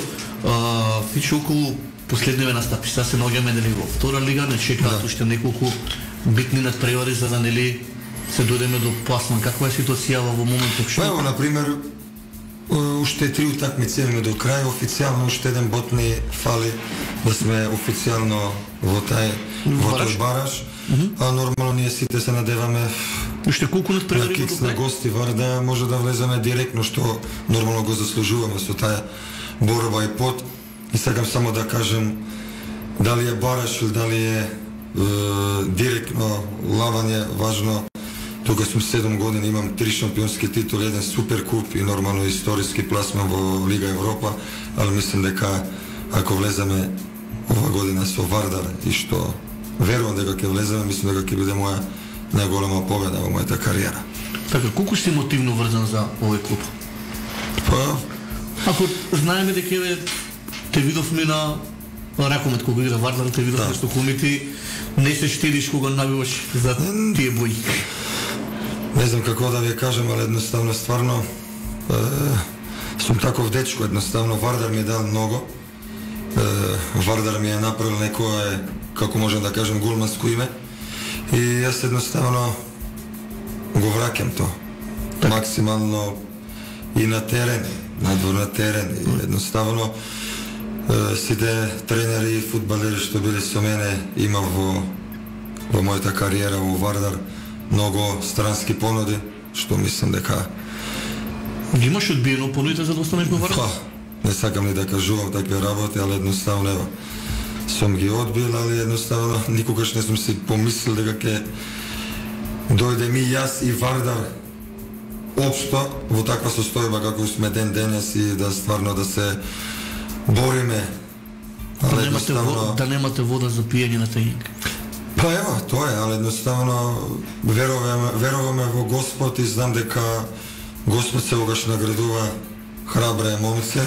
Фичо околу последниве настапи. Сега се наоѓаме нели во втора лига, не чекаат уште неколку битни надпревари за да нели се дојдеме до пласман. Каква е ситуацијава во моментот што? Ево на пример уште 3 утакмици имаме до крај, официјално уште еден бот ни фали да сме официјално во тој бараж. А нормално ние сите се надеваме уште колку надпревари на кикс на гости Вардар може да влеземе директно што нормално го заслужуваме со таа борба и пот. И сакам само да кажем дали е бараш или дали е директно лавање, важно. Тука сум 7 години, имам 3 шампионски титули, еден супер куп и нормално историски пласман во Лига Европа, али мислам дека ако влеземе ова година со Вардар и што верувам дека ќе влеземе, мислам дека ќе биде моја најголема победа во мојата кариера. Така, колку си мотивно врзан за овој клуб? Па, ако знаеме дека те видовме на ракомет кога игра Вардар, те видовме што комити не се штедиш кога набиваш за тие бои. Не знам како да ви кажам, али едноставно стварно сум таков дечко, едноставно Вардар ми е дал многу. Вардар ми е направил некое, како можем да кажем, гулманско име. И јас едноставно го враќам тоа. Максимално и на терен, надвор на терен. И едноставно сите тренери и фудбалери што биле со мене имав во мојата кариера во Вардар многу странски понуди, што мислам дека ги имаш одбиено понудите за да останеш во Вардар? Не сакам ни да кажувам такви работи, али едноставно ево сум ги одбил, али едноставно никогаш не сум си помислил дека ќе дојде ми јас и Вардар општо во таква состојба како сме денес и да стварно да се бориме. Да немате вода за пиење на тајник. Па ево, тоа е, али едноставно веруваме во Господ и знам дека Господ сегогаш наградува храбре момци,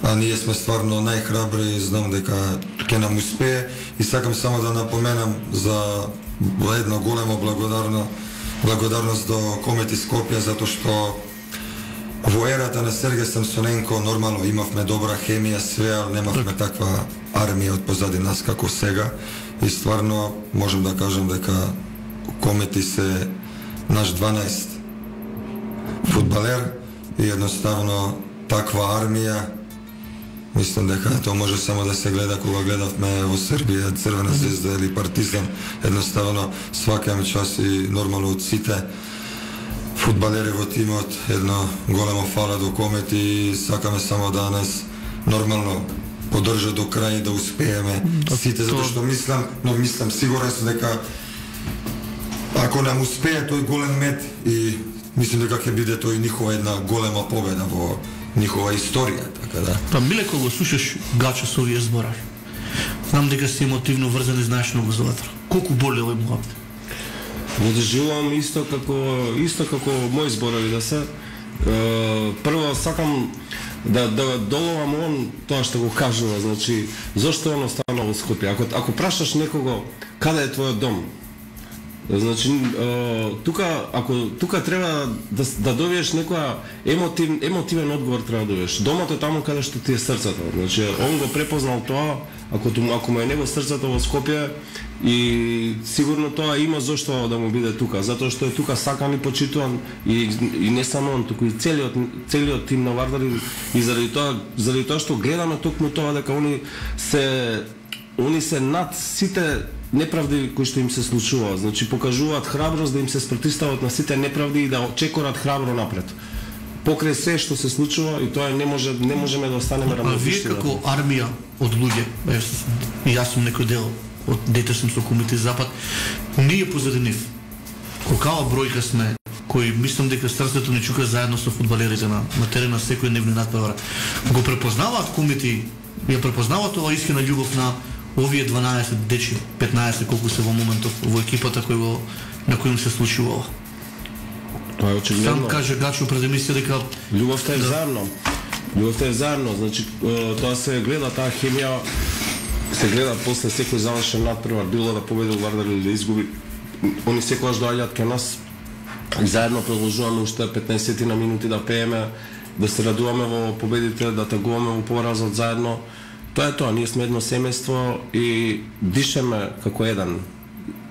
а ние сме стварно најхрабри и знам дека ќе нам успее и сакам само да напоменам за една голема благодарност до Комети Скопје затоа што во ерата на Сергеј Самсоненко нормално имавме добра хемија, све, ал немавме таква армија од позади нас како сега и стварно можем да кажем дека Комети се наш 12 фудбалер и едноставно таква армија. Мислам дека тоа може само да се гледа кога гледавме во Србија Црвена звезда или Партизан. Едноставно свака час и нормално од сите фудбалери во тимот едно големо фала до Комети и сакаме само да нас нормално поддржа до крај да успееме сите, затоа што мислам сигурен сум дека ако нам успее тој голем мет и мислам дека ќе биде тој нихова една голема победа во нихова историја, така да. Па Миле, кога го слушаш Гача со овие зборави, знам дека си емотивно врзан и знаеш многу за Вардар. Колку боли овој муабет? Го доживувам исто како мои зборови да се. Прво сакам да доловам он тоа што го кажува, значи зошто он останал во Скопје. Ако прашаш некого каде е твојот дом, значи тука треба да добиеш некоја емотивен одговор, треба да добиеш. Домот е таму каде што ти е срцето. Значи он го препознал тоа, ако му е него срцето во Скопје, и сигурно тоа има зошто да му биде тука, затоа што е тука сакан и почитуван, и не само он, туку и целиот тим на Вардар, и заради тоа што гледаме токму тоа дека они се над сите неправди кои што им се случуваат. Значи покажуваат храброст да им се спротивстават на сите неправди и да чекорат храбро напред. Покрај се што се случува, и тоа не можеме да останеме равнодушни. А вие како армија од луѓе, јас сум некој дел од дете сум со Комитет Запад, ние позади нив. Колкава бројка сме, кои мислам дека срцето ни чука заедно со фудбалерите на терена секој дневни надпревара. Го препознаваат комити, ја препознаваат оваа искрена љубов на овие 12 дечи, 15 колку се во моментов во екипата на кој им се случува ова. Тоа е очигледно. Сам каже Гачо пред емисија дека љубовта е заедно. Љубовта е заедно, значи тоа се гледа, таа хемија се гледа после секој завршен надпревар, било да победи Вардар или да изгуби. Они секогаш доаѓаат кај нас и заедно продолжуваме уште 15 на минути да пееме, да се радуваме во победите, да тагуваме во поразот заедно. Тоа е тоа, ние сме едно семејство и дишеме како еден.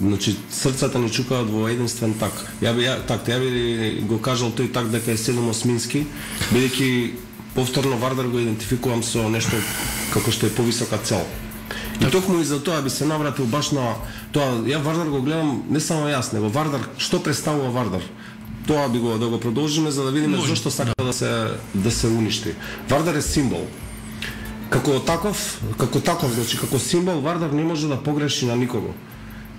Значи срцата ни чукаат во единствен так. Ја би го кажал тој так дека е 7-осмински, бидејќи повторно Вардар го идентификувам со нешто како што е повисока цел. И токму и за тоа би се навратил баш на тоа. Ја Вардар го гледам не само јас, него Вардар, што представува Вардар. Тоа би да го продолжиме за да видиме зошто сака да се уништи. Вардар е символ. Како таков, значи како символ Вардар не може да погреши на никого.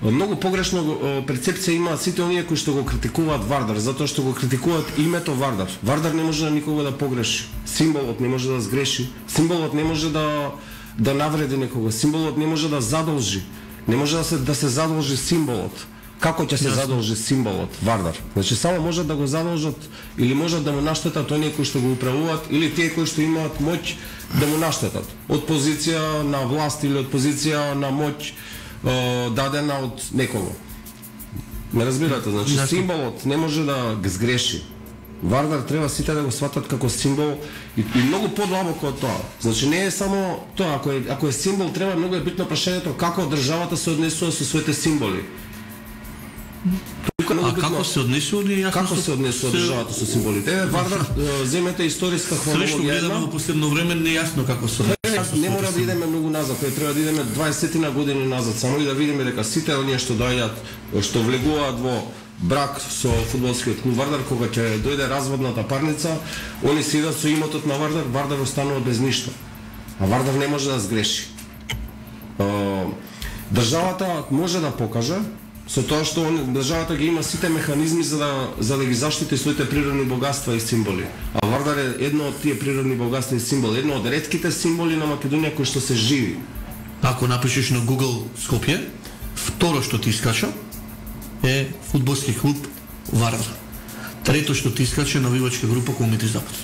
Многу погрешно перцепција имаат сите оние кои што го критикуваат Вардар, затоа што го критикуваат името Вардар. Вардар не може на никого да погреши. Символот не може да сгреши. Символот не може да навреди некого. Символот не може да задолжи. Не може да се задолжи символот. Како ќе се задолжи символот Вардар? Значи само можат да го задолжат или можат да му наштетат оние кои што го управуваат или тие кои што имаат моќ да му наштетат. Од позиција на власт или од позиција на моќ дадена од некого. Ме разбирате, значи символот не може да го сгреши. Вардар треба сите да го сватат како символ и многу подлабоко од тоа. Значи не е само тоа, ако е символ, треба многу е битно прашањето како државата се однесува со своите символи. А како се однесува државата со символите? Вардар, земете историска хронологија. Срешно гледаме во последно време нејасно како се однесува. Не мора да идеме многу назад, треба да идеме 20 години назад, само и да видиме дека сите оние што доаѓаат, што влегуваат во брак со фудбалскиот клуб Вардар, кога ќе дојде разводната парница, они се идат со имотот на Вардар, Вардар останува без ништо. А Вардар не може да сгреши. Државата може да покаже со тоа што државата ги има сите механизми за да ги заштити своите природни богатства и символи. А Вардар е едно од тие природни богатства и символи, едно од ретките символи на Македонија кои што се живи. Ако напишеш на Google Скопје, второ што ти искача е фудбалски клуб Вардар. Трето што ти искача навивачка група Комитет Запад.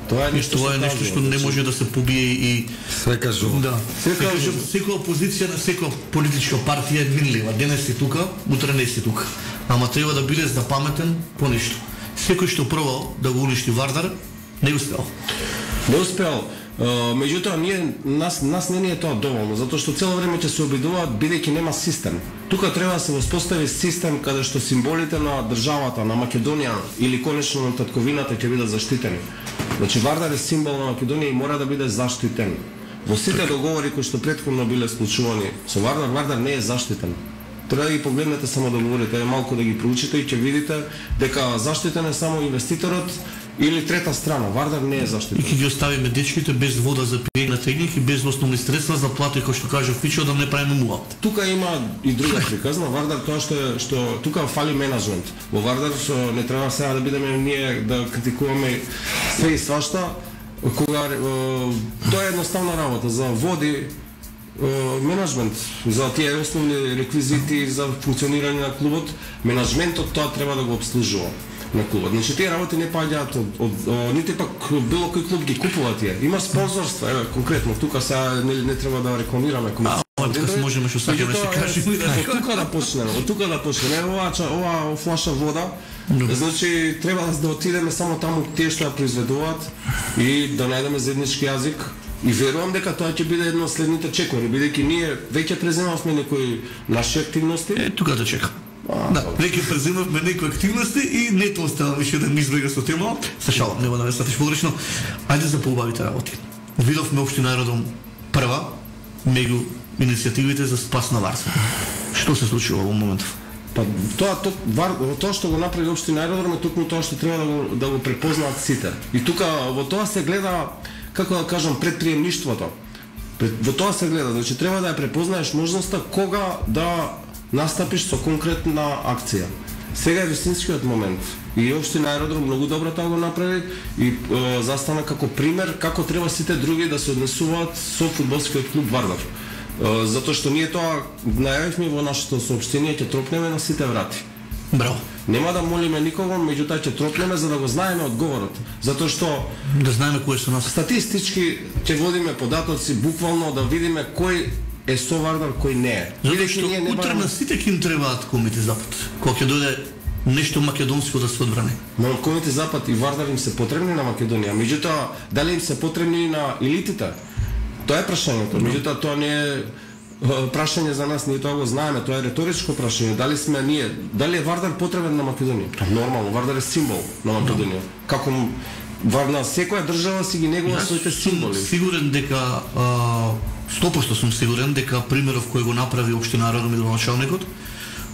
Тоа е нешто што не може да се побие и се кажува. Да. Секоја опозиција на секоја политичка партија е минлива. Денес си тука, утре не си тука. Ама треба да бидеш паметен по нешто. Секој што пробал да го уништи Вардар, не успеал. Не успеал. Меѓутоа нас не е тоа доволно, затоа што цело време ќе се обидуваат бидејќи нема систем. Тука треба да се воспостави систем каде што символите на државата, на Македонија или конечно на татковината ќе бидат заштитени. Значи Вардар е символ на Македонија и мора да биде заштитен. Во сите договори кои што претходно биле склучувани со Вардар, Вардар не е заштитен. Треба да ги погледнете само договорите, малку да ги проучите и ќе видите дека заштитен е само инвеститорот или трета страна. Вардар не е заштитен. И ќе ги оставиме дечките без вода за пиење на тренинг и без основни средства за плата, кој што кажа Фичо, да не правиме муа. Тука има и друга приказна. Вардар тоа што тука фали менаџмент. Во Вардар не треба сега да бидеме ние да критикуваме све и свашта, кога тоа е едноставна работа за води менаджмент за тие основни реквизити за функционирање на клубот. Менаджментот тоа треба да го обслужува на клубот. Значи тие работи не паѓаат од нити пак било кој клуб ги купува тие. Има спонзорства, еве конкретно тука сега не треба да рекламираме Така се можеме што сакаме да се кажеме. Од тука да почнеме. Ова флаша вода. Значи треба да отидеме само таму тие што ја произведуваат и да најдеме заеднички јазик. И верувам дека тоа ќе биде едно од следните чекори, бидејќи ние веќе преземавме некои наши активности. Тука да чекам. Да, веќе преземавме некои активности и не тоа остава више да ми избега со тема. Се шалам, нема да ме сватиш погрешно. Ајде за поубавите работи. Видовме Општина Аеродром прва меѓу иницијативите за спас на Вардар. Што се случува во моментов? Па тоа што го направи Општина Аеродром е токму тоа што треба да го препознаат сите. И тука во тоа се гледа, како да кажам, предприемништвото. Во тоа се гледа, значи треба да ја препознаеш можноста кога да настапиш со конкретна акција. Сега е вистинскиот момент. И Општина Аеродром многу добро тоа го направи и застана како пример како треба сите други да се однесуваат со фудбалскиот клуб Вардар. Затоа што ние тоа најавивме во нашето соопштение, ќе тропнеме на сите врати. Браво. Нема да молиме никого, меѓутоа ќе тропнеме за да го знаеме одговорот. Затоа што да знаеме кои се нас. Статистички ќе водиме податоци, буквално да видиме кој е со Вардар, кој не е. Затоа што утре на сите ќе им требаат Комити Запад. Кога ќе дојде нешто македонско да се одбрани. Но Комити Запад и Вардар им се потребни на Македонија, меѓутоа дали им се потребни и на елитите? Тоа е прашањето. Меѓутоа тоа не е прашање за нас, ние тоа го знаеме, тоа е риторичко прашање. Дали е Вардар потребен на Македонија? Нормално, Вардар е символ на Македонија. Како на секоја држава си ги негува своите символи. Сигурен дека 100% сум сигурен дека примеров кој го направи Општина Аеродром и градоначалникот,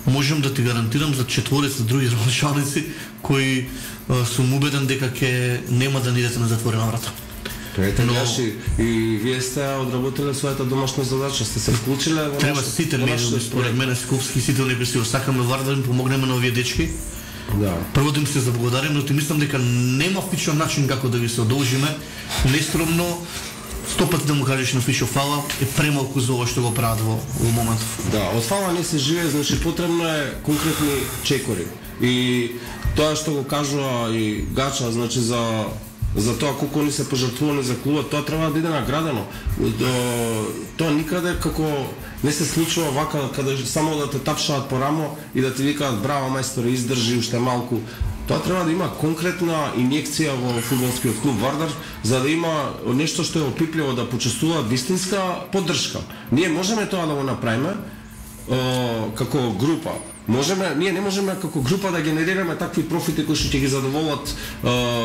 можам да ти гарантирам за 4 други градоначалници кои сум убеден дека ќе нема да идете на затворена врата. И вие сте одработиле својата домашна задача, сте се вклучиле во треба сите медиуми, според мене скопски сите оние кои се сакаме Вардар да им помогнеме на овие дечки. Да. Прво да им се заблагодарим, но ти мислам дека нема фичен начин како да ви се одолжиме. Нескромно 100 пати да му кажеш на Фишо фала е премалку за ова што го прават во моментов. Да, од фала не се живее, значи потребно е конкретни чекори. И тоа што го кажува и Гача, значи за тоа колку они се пожртвувани за клубот, тоа треба да биде наградено. Тоа никаде како не се случува вака, каде само да те тапшаат по рамо и да ти викаат браво мајсторе, издржи уште малку. Тоа треба да има конкретна инјекција во фудбалскиот клуб Вардар, за да има нешто што е опипливо, да почувствуваат вистинска поддршка. Ние можеме тоа да го направиме како група. Ние не можеме како група да генерираме такви профити кои што ќе ги задоволат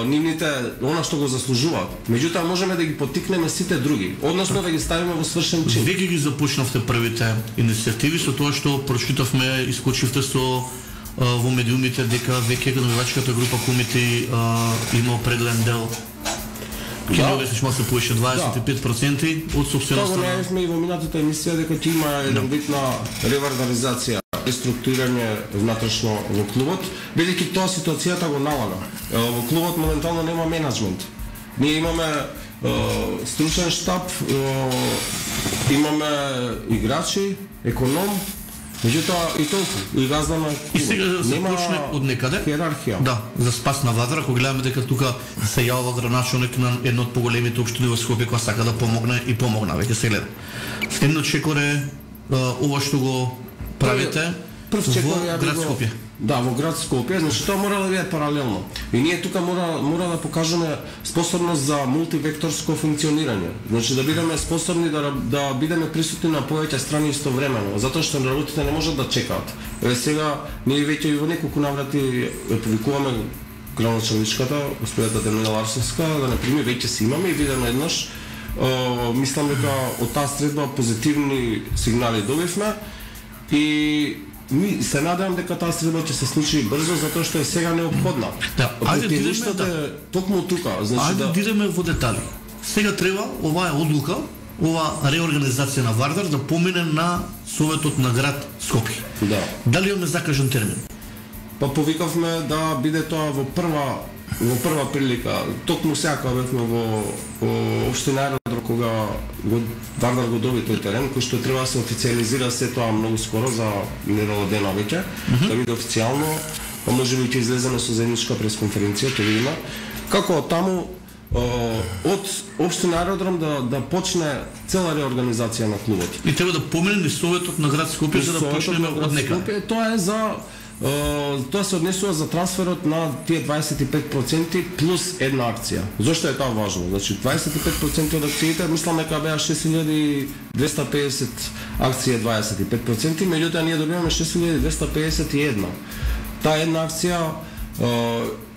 нивните она што го заслужуваат. Меѓутоа можеме да ги поттикнеме сите други, односно да ги ставиме во свршен чин. Веќе ги започнавте првите иницијативи со тоа што прочитавме, искочивте со во медиумите дека веќе навивачката група Комити има определен дел. Ќе не обясниш малку повеќе 25% од собственоста. Тоа го најавивме и во минатата емисија дека ќе има еден вид на ревардаризација, реструктурирање внатрешно во клубот, бидејќи тоа ситуацијата го налага. Во клубот моментално нема менаџмент. Ние имаме стручен штаб, имаме играчи, економ, меѓутоа и толку, и газда на клубот. И сега да се почне од некаде. Хиерархија. Да, за спас на Вардар, ако гледаме дека тука се јавува градоначалник на едно од поголемите општини во Скопје која сака да помогне и помогна, веќе се гледа. Следниот чекор е ова што го правите во град Скопје. Да, во град Скопје, значи тоа мора да биде паралелно. И ние тука мора да покажеме способност за мултивекторско функционирање. Значи да бидеме способни да бидеме присутни на повеќе страни истовремено, затоа што работите не можат да чекаат. Сега ние веќе и во неколку наврати повикуваме градоначалничката, господјата Демина Ларсовска, да не прими, веќе се имаме и видиме еднаш. Мислам дека од таа средба позитивни сигнали добивме и ми се надевам дека таа средба ќе се случи брзо затоа што е сега неопходна. Да, ајде токму тука, значи да идеме во детали. Сега треба оваа одлука, ова реорганизација на Вардар да помине на Советот на град Скопје. Да. Дали имаме закажан термин? Па повикавме да биде тоа во прва во прва прилика, токму сега кога бевме во општина Аеродром, кога Вардар го доби тој терен, кој што треба да се официализира се тоа многу скоро за недела дена веќе, да биде официјално, па можеби ќе излеземе со заедничка пресконференција, ќе видиме како таму од општина Аеродром да почне цела реорганизација на клубот. И треба да помине Советот на град Скопје за да почнеме од некаде. Тоа е за тоа се однесува за трансферот на тие 25% плюс една акција. Зошто е тоа важно? Значи 25% од акциите, мислам дека беа 6250 акција 25%, меѓутоа ние добиваме 6251. Таа една акција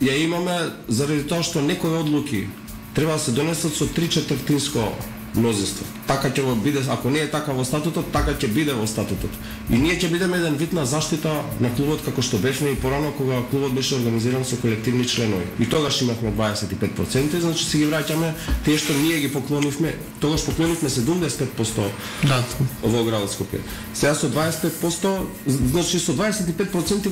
ја имаме заради тоа што некои одлуки треба да се донесат со 3/4 мнозинство. Така ќе го биде, ако не е така во статутот, така ќе биде во статутот. И ние ќе бидеме еден вид на заштита на клубот како што бевме и порано кога клубот беше организиран со колективни членови. И тогаш имавме 25%, значи си ги враќаме тие што ние ги поклонивме. Тогаш поклонивме 75% во градот Скопје. Сега со 25%, значи со 25%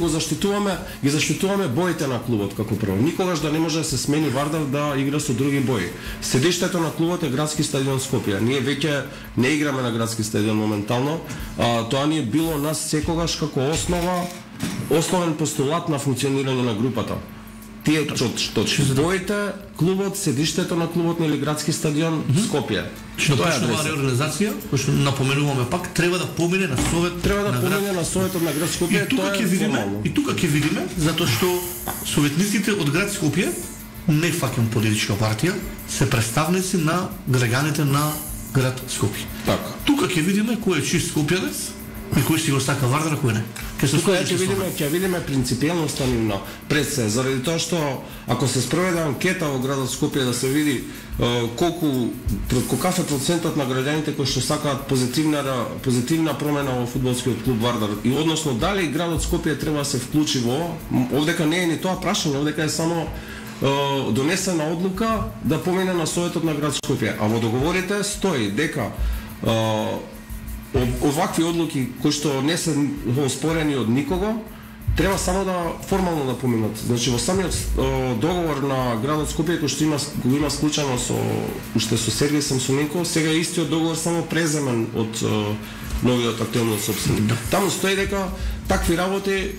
ги заштитуваме боите на клубот како прво. Никогаш да не може да се смени Вардар да игра со други бои. Седиштето на клубот е градски стадион Скопје. Ние веќе не играме на градски стадион моментално. Тоа ни е било нас секогаш како основен постулат на функционирање на групата. Тие точки. Боите, клубот, седиштето на клубот или градски стадион Скопје. Што почнува реорганизација, кој што напоменуваме пак, треба да помине на Совет. Треба да помине на Советот на град Скопје. И тука ќе видиме, затоа што советниците од град Скопје, не фаќам политичка партија, се представници на граѓаните на град Скопје. Така. Тука ќе видиме кој е чист скопјанец и кој си го сака Вардар, кој не. Ќе видиме принципиелноста нивна пред се, заради тоа што ако се спроведе анкета во градот Скопје да се види каков е процентот на граѓаните кои што сакаат позитивна промена во фудбалскиот клуб Вардар и односно дали градот Скопје треба да се вклучи во, овдека не е ни тоа прашање, овдека е само донесена одлука да помине на Советот на град Скопје. А во договорите стои дека овакви одлуки кои што не се оспорени од никого, треба само да формално да поминат. Значи во самиот договор на градот Скопје кој што го има склучено со уште со Сергеј Самсоненко, сега е истиот договор само преземен од новиот актуелниот сопственик. Таму стои дека такви работи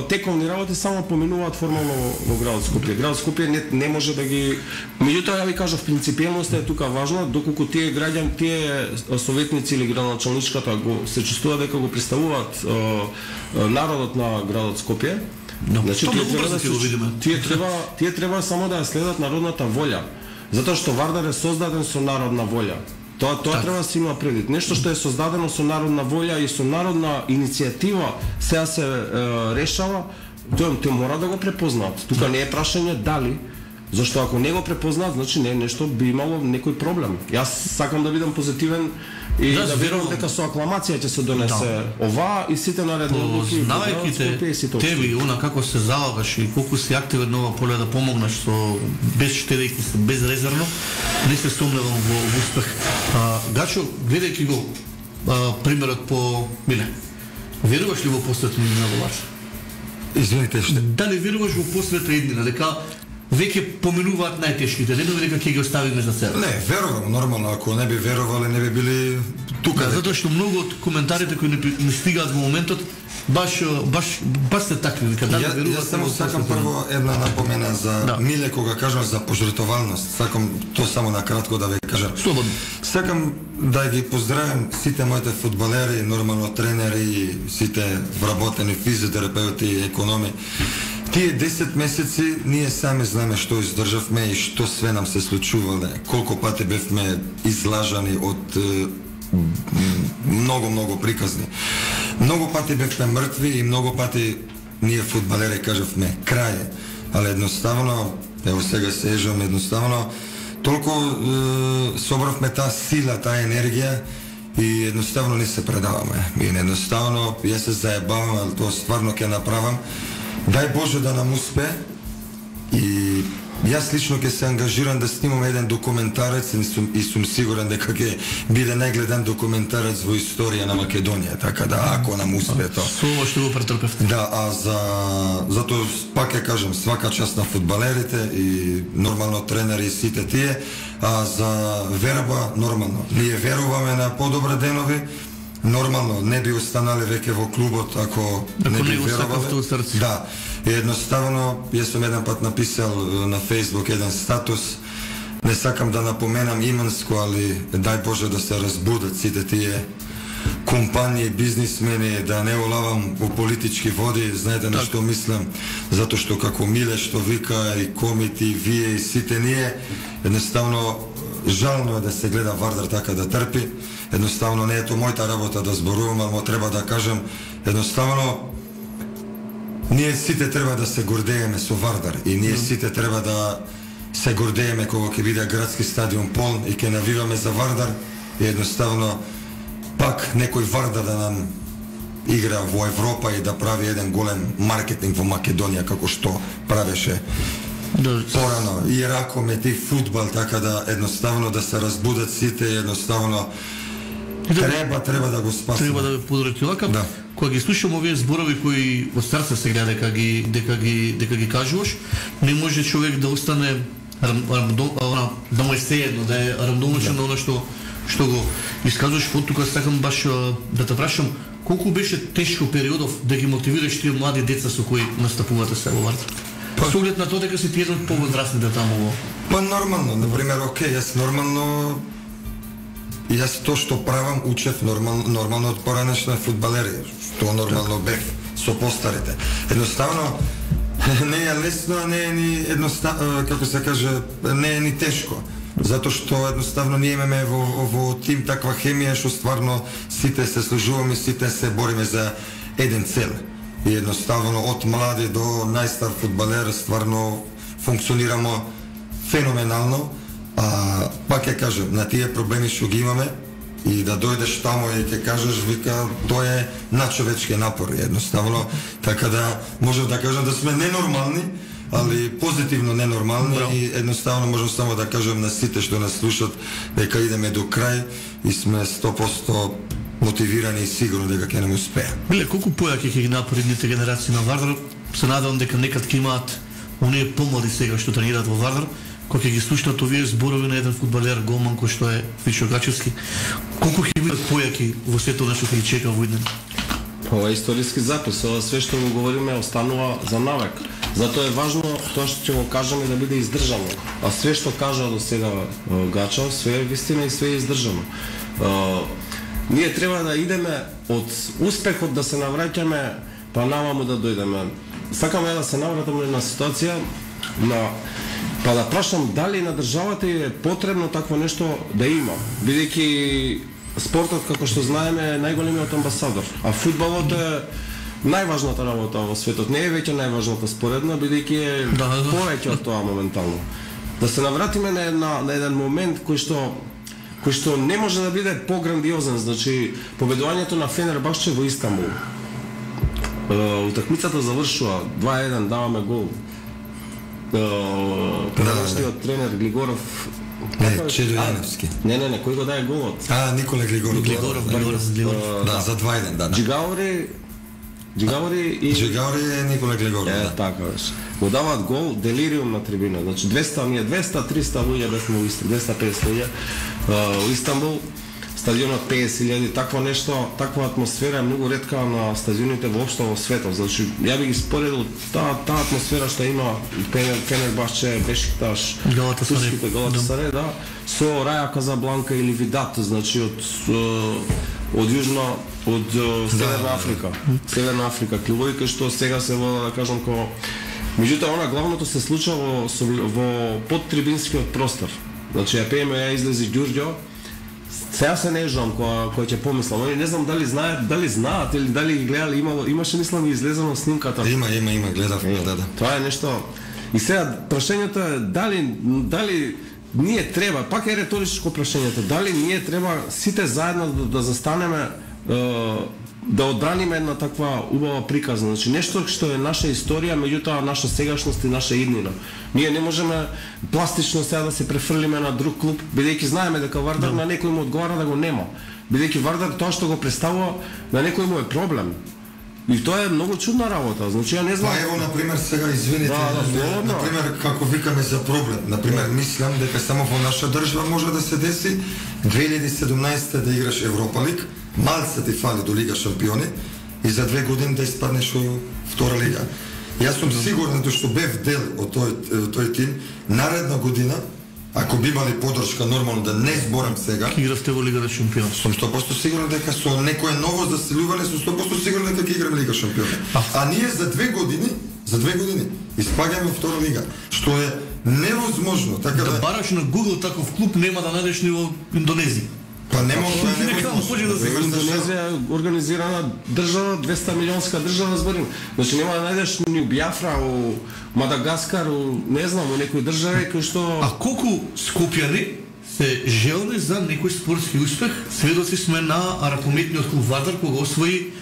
тековни работи само поминуваат формално во градот Скопје. Градот Скопје не може да ги. Меѓутоа ја ви кажав, принципиелноста е тука важна, доколку тие граѓани, тие советници или градоначалничката се чувствува дека го представуваат народот на градот Скопје. Значи тие треба само да ја следат народната волја, затоа што Вардар е создаден со народна волја. Тоа треба да се има предвид. Нешто што е создадено со народна волја и со народна иницијатива сега се решава, тоа мора да го препознаат. Тука не е прашање дали, зашто ако не го препознаат, значи не е нешто, би имало некој проблем. Јас сакам да бидам позитивен и да верувам дека со акламација ќе се донесе ова и сите наредни одлуки. Знаејќи тебе она како се залагаш и колку си активен на ова поле да помогнеш со без штедејќи се безрезервно, не се сомневам во успех. Гачо, гледајќи го примерот по Миле, веруваш ли во посветна иднина во Ларс? Извините, што? Дали веруваш во посветна иднина, дека веќе поминуваат најтешките денови, дека ќе ги оставиме за себе? Не, верувам, нормално, ако не би верувале, не би били тука. Затоа што многу од коментарите кои не стигаат во моментот, баш се такви, дека дали веруваат. Јас само сакам прво една напомена за Миле, кога кажам за пожртовалност. Сакам то само на кратко да ви кажам. Слободно. Сакам да ги поздравам сите моите фудбалери, нормално тренери, сите вработени физиотерапеути и економи. Тие 10 месеци ние сами знаеме што издржавме и што све нам се случувале. Колку пати бевме излажани од многу приказни. Многу пати бевме мртви и многу пати ние фудбалери кажавме крај. Але едноставно, ево сега се ежам, едноставно толку собравме таа сила, таа енергија и едноставно не се предаваме. И едноставно јас се заебавам, але тоа стварно ќе направам. Дај Боже да нам успе и Јас лично ќе се ангажирам да снимам еден документарец и сум сигурен дека ќе биде најгледан документарец во историја на Македонија, така да ако нам успее тоа. Со што го претрпевте. Да, а затоа пак ќе кажам свака част на фудбалерите и нормално тренери и сите тие, а за верба нормално. Ние веруваме на подобри денови. Нормално не би останале веќе во клубот ако не би верувале. Да, едноставно јас сум еден пат написал на Facebook еден статус. Не сакам да напоменам иманско, али дај Боже да се разбудат сите тие компании, бизнисмени, да не олавам во политички води, знаете на што мислам, затоа што како Миле што вика и комити, и вие и сите ние, едноставно жално е да се гледа Вардар така да трпи. Едноставно не е тоа мојата работа да зборувам, ама треба да кажам, едноставно ние сите треба да се гордееме со Вардар и ние сите треба да се гордееме кога ќе биде градски стадион полн и ќе навиваме за Вардар и едноставно пак некој Вардар да нам игра во Европа и да прави еден голем маркетинг во Македонија како што правеше порано и ракомет и фудбал, така да едноставно да се разбудат сите, едноставно треба да го спасиме. Треба да подорите лака. Да. Кога ги слушам овие зборови кои од старца се гледа дека ги кажуваш, не може човек да остане да му е сеедно, да е рамдомничен на оно што го искажуваш. Тука сакам баш да те прашам, колку беше тешко периодов да ги мотивираш тие млади деца со кои настапувате се во Вардар? Со оглед на тоа дека си ти еден од повозрастните таму. Па нормално, например, окей, јас нормално јас тоа што правам учев нормално од поранешна фудбалери, што нормално бев со постарите. Едноставно не е лесно, не е ни едноставно, како се каже, не е ни тешко. Затоа што едноставно ние имаме во тим таква хемија што стварно сите се служуваме, сите се бориме за еден цел. И едноставно од млади до најстар фудбалер стварно функционираме феноменално. Пак ќе кажам, на тие проблеми што ги имаме и да дојдеш таму и ќе кажеш, вика, тоа е надчовечки напор едноставно, така да можам да кажам да сме ненормални, али позитивно ненормални. Браво. И едноставно можам само да кажам на сите што нас слушат дека идеме до крај и сме 100% мотивирани и сигурно дека ќе не успее. Биле, колку појаки ќе ги напредните генерации на Вардар, се надевам дека некад ќе имаат оние помлади сега што тренираат во Вардар, кога ќе ги слушнат овие зборови на еден фудбалер голман кој што е Фичо Гачевски, колку ќе бидат појаки во сето нешто ќе ги чека во иднина? Ова е историски запис, ова све што го говориме останува за навек. Затоа е важно тоа што ќе го кажеме да биде издржано. А све што кажа до сега Гача, све е вистина и све е издржано. Ние треба да идеме од успехот да се навраќаме, па намаму да дојдеме. Сакаме да се навратиме на ситуација па да прашам дали на државата е потребно такво нешто да има, бидејќи спортот, како што знаеме, е најголемиот амбасадор, а фудбалот е најважната работа во светот. Не е веќе најважната споредна, бидејќи е повеќе од тоа моментално. Да се навратиме на еден момент кој што не може да биде пограндиозен, значи победувањето на Фенербахче во Истанбул. Утакмицата завршува 2-1, даваме гол. Предавачниот тренер Глигоров. Не, Чедо Јановски. Не, кој го даде голот? Никола Глигоров. Да, за 2-1, да. Джигаори е Никола Глигоров, да. Така беше. Го даваат гол, делириум на трибина. Значи 200, 300 луѓе бесме во Истанбул, 250 луѓе во Истанбул. Стадионот 50.000, такво нешто, таква атмосфера е многу ретка на стадионите воопшто во светот. Значи, ја би ги споредил таа атмосфера што има Фенербахче, Бешикташ, турските Галатасарај, да, со Раја Казабланка или Видат, значи од Јужна, од Северна Африка. Северна Африка, клубови што сега се вода, да кажам, меѓутоа она главното се случува во подтрибинскиот простор. Значи, ја пееме, ја излези Ѓурѓо. Сега се не жам кој ќе помислам. Они не знам дали знаат или дали ги гледали, имаше мислам и излезено снимката. Има, гледав, да. Тоа е нешто. И сега прашањето е дали ние треба, пак е риторичко прашањето, дали ние треба сите заедно да застанеме да одбраниме една таква убава приказна, значи нешто што е наша историја, меѓутоа наша сегашност и наша иднина. Ние не можеме пластично сега да се префрлиме на друг клуб, бидејќи знаеме дека Вардар на некој му одговара да го нема. Бидејќи Вардар тоа што го представува на некој му е проблем. И тоа е многу чудна работа. Значи ја не знам. Па ево на пример сега извините, на пример како викаме за проблем. На пример мислам дека само во наша држава може да се деси 2017 да играш Европа лиг, малце ти фали до Лига шампиони и за 2 години да испаднеш во втора лига. Јас сум сигурен што бев дел од тој тим, наредна година ако би имали подршка нормално да не зборам сега, ќе игравте во Лига шампиони. Сум 100% сигурен дека со некое ново заселување сум 100% сигурен дека ќе играме Лига шампиони. А ние за 2 години испаѓаме во втора лига, што е невозможно. Така да бараш на Google таков клуб нема да најдеш ни во Индонезија. Па не може да се Индонезија е организирана држава, 200 милионска држава зборим. Значи нема да најдеш ни у Биафра, у Мадагаскар, не знам, у некои држави кои што... А колку скопјани се желни за некој спортски успех? Сведоци сме на ракометниот клуб Вардар кога освои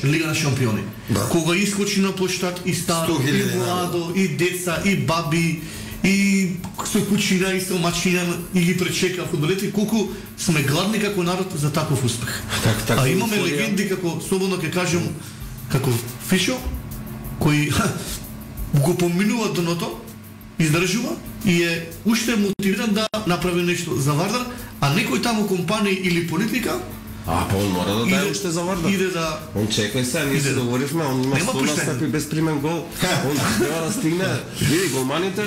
Лига на шампиони. Кога искочи на площад и старо, и младо, и деца, и баби, и со кучина и со мачина и ги пречека фудбалите, колку сме гладни како народ за таков успех. А имаме легенди како, слободно ќе кажем, како Фишо, кој го поминува дното, издржува и е уште мотивиран да направи нешто за Вардар, а некој таму компанија или политика па он мора да даде уште за Вардар. Он чекај се, ние се договоривме, он има 100 настапи безпримен гол. Он треба да стигне. Види, голманите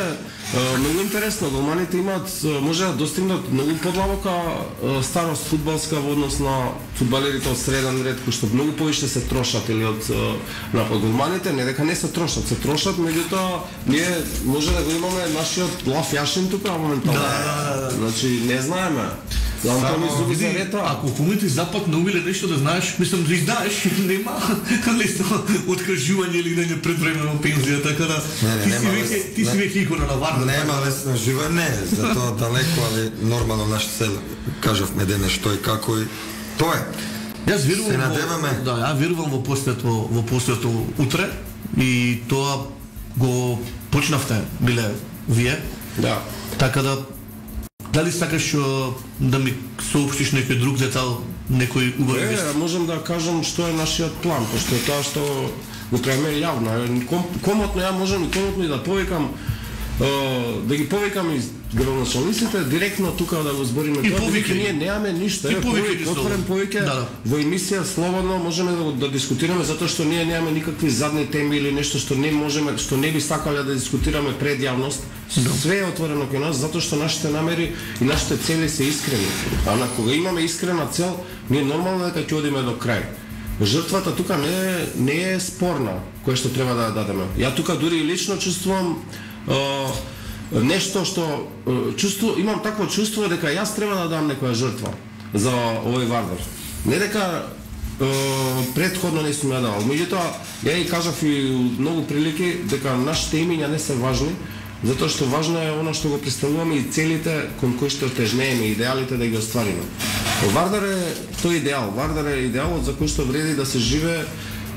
многу интересно, голманите имаат може да достигнат многу подлабока старост фудбалска во однос на фудбалерите од среден ред кои што многу повише се трошат или од голманите, не дека не се трошат, меѓутоа ние може да го имаме нашиот Лав Јашин тука моментално. Значи не знаеме. Ако помните запад наумиле нешто да знаеш, мислам да издаеш, нема лесно откажување или да не предвремено пензија, така да ти си веќе икона на Вардар. Нема лесно живење, затоа далеко, али нормално наш цел, кажавме дене што и како и тоа е. Јас верувам во постојато утре и тоа го почнавте, биле вие. Да. Така да дали сакаш да ми соопштиш некој друг детал, некој убави вести? Можем да кажам што е нашиот план, пошто тоа што го правиме јавно. Комотно ја можам и комотно и да повикам, да ги повикам и градоначалниците директно тука да го збориме тоа, дека ние немаме ништо. Отворен повеќе во емисија слободно можеме да дискутираме затоа што ние немаме никакви задни теми или нешто што не можеме, што не би сакале да дискутираме пред јавност. Све е отворено кај нас затоа што нашите намери и нашите цели се искрени. А на кога имаме искрена цел, ние нормално дека ќе одиме до крај. Жртвата тука не е спорна, која што треба да ја дадеме. Ја тука дури и лично чувствувам нешто што имам такво чувство дека јас треба да дам некоја жртва за овој Вардар. Не дека предходно не сум ја давал. Меѓутоа, ја и кажав и многу прилики дека нашите имиња не се важни, затоа што важно е она што го представуваме и целите кон кои што тежнееме, идеалите да ги оствариме. Вардар е тој идеал, Вардар е идеалот за кој што вреди да се живее.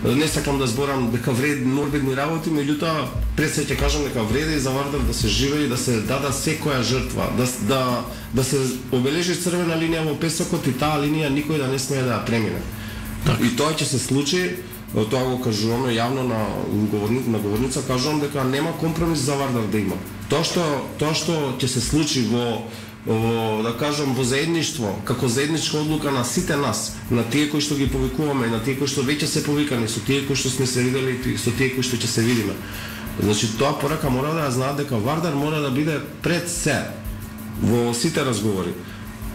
Не сакам да зборам дека вреди норбидни работи, меѓутоа пред се ќе кажам дека вреди за Вардар да се живее и да се дада секоја жртва, да се обележи црвена линија во песокот и таа линија никој да не смее да ја премине. И тоа ќе се случи, тоа го кажуваме јавно на говорница, кажувам дека нема компромис за Вардар да има. Тоа што ќе се случи во да кажам во заедништво, како заедничка одлука на сите нас, на тие кои што ги повикуваме, на тие кои што веќе се повикани, со тие кои што сме се видели и со тие кои што ќе се видиме. Значи тоа порака мора да ја знаат дека Вардар мора да биде пред се во сите разговори.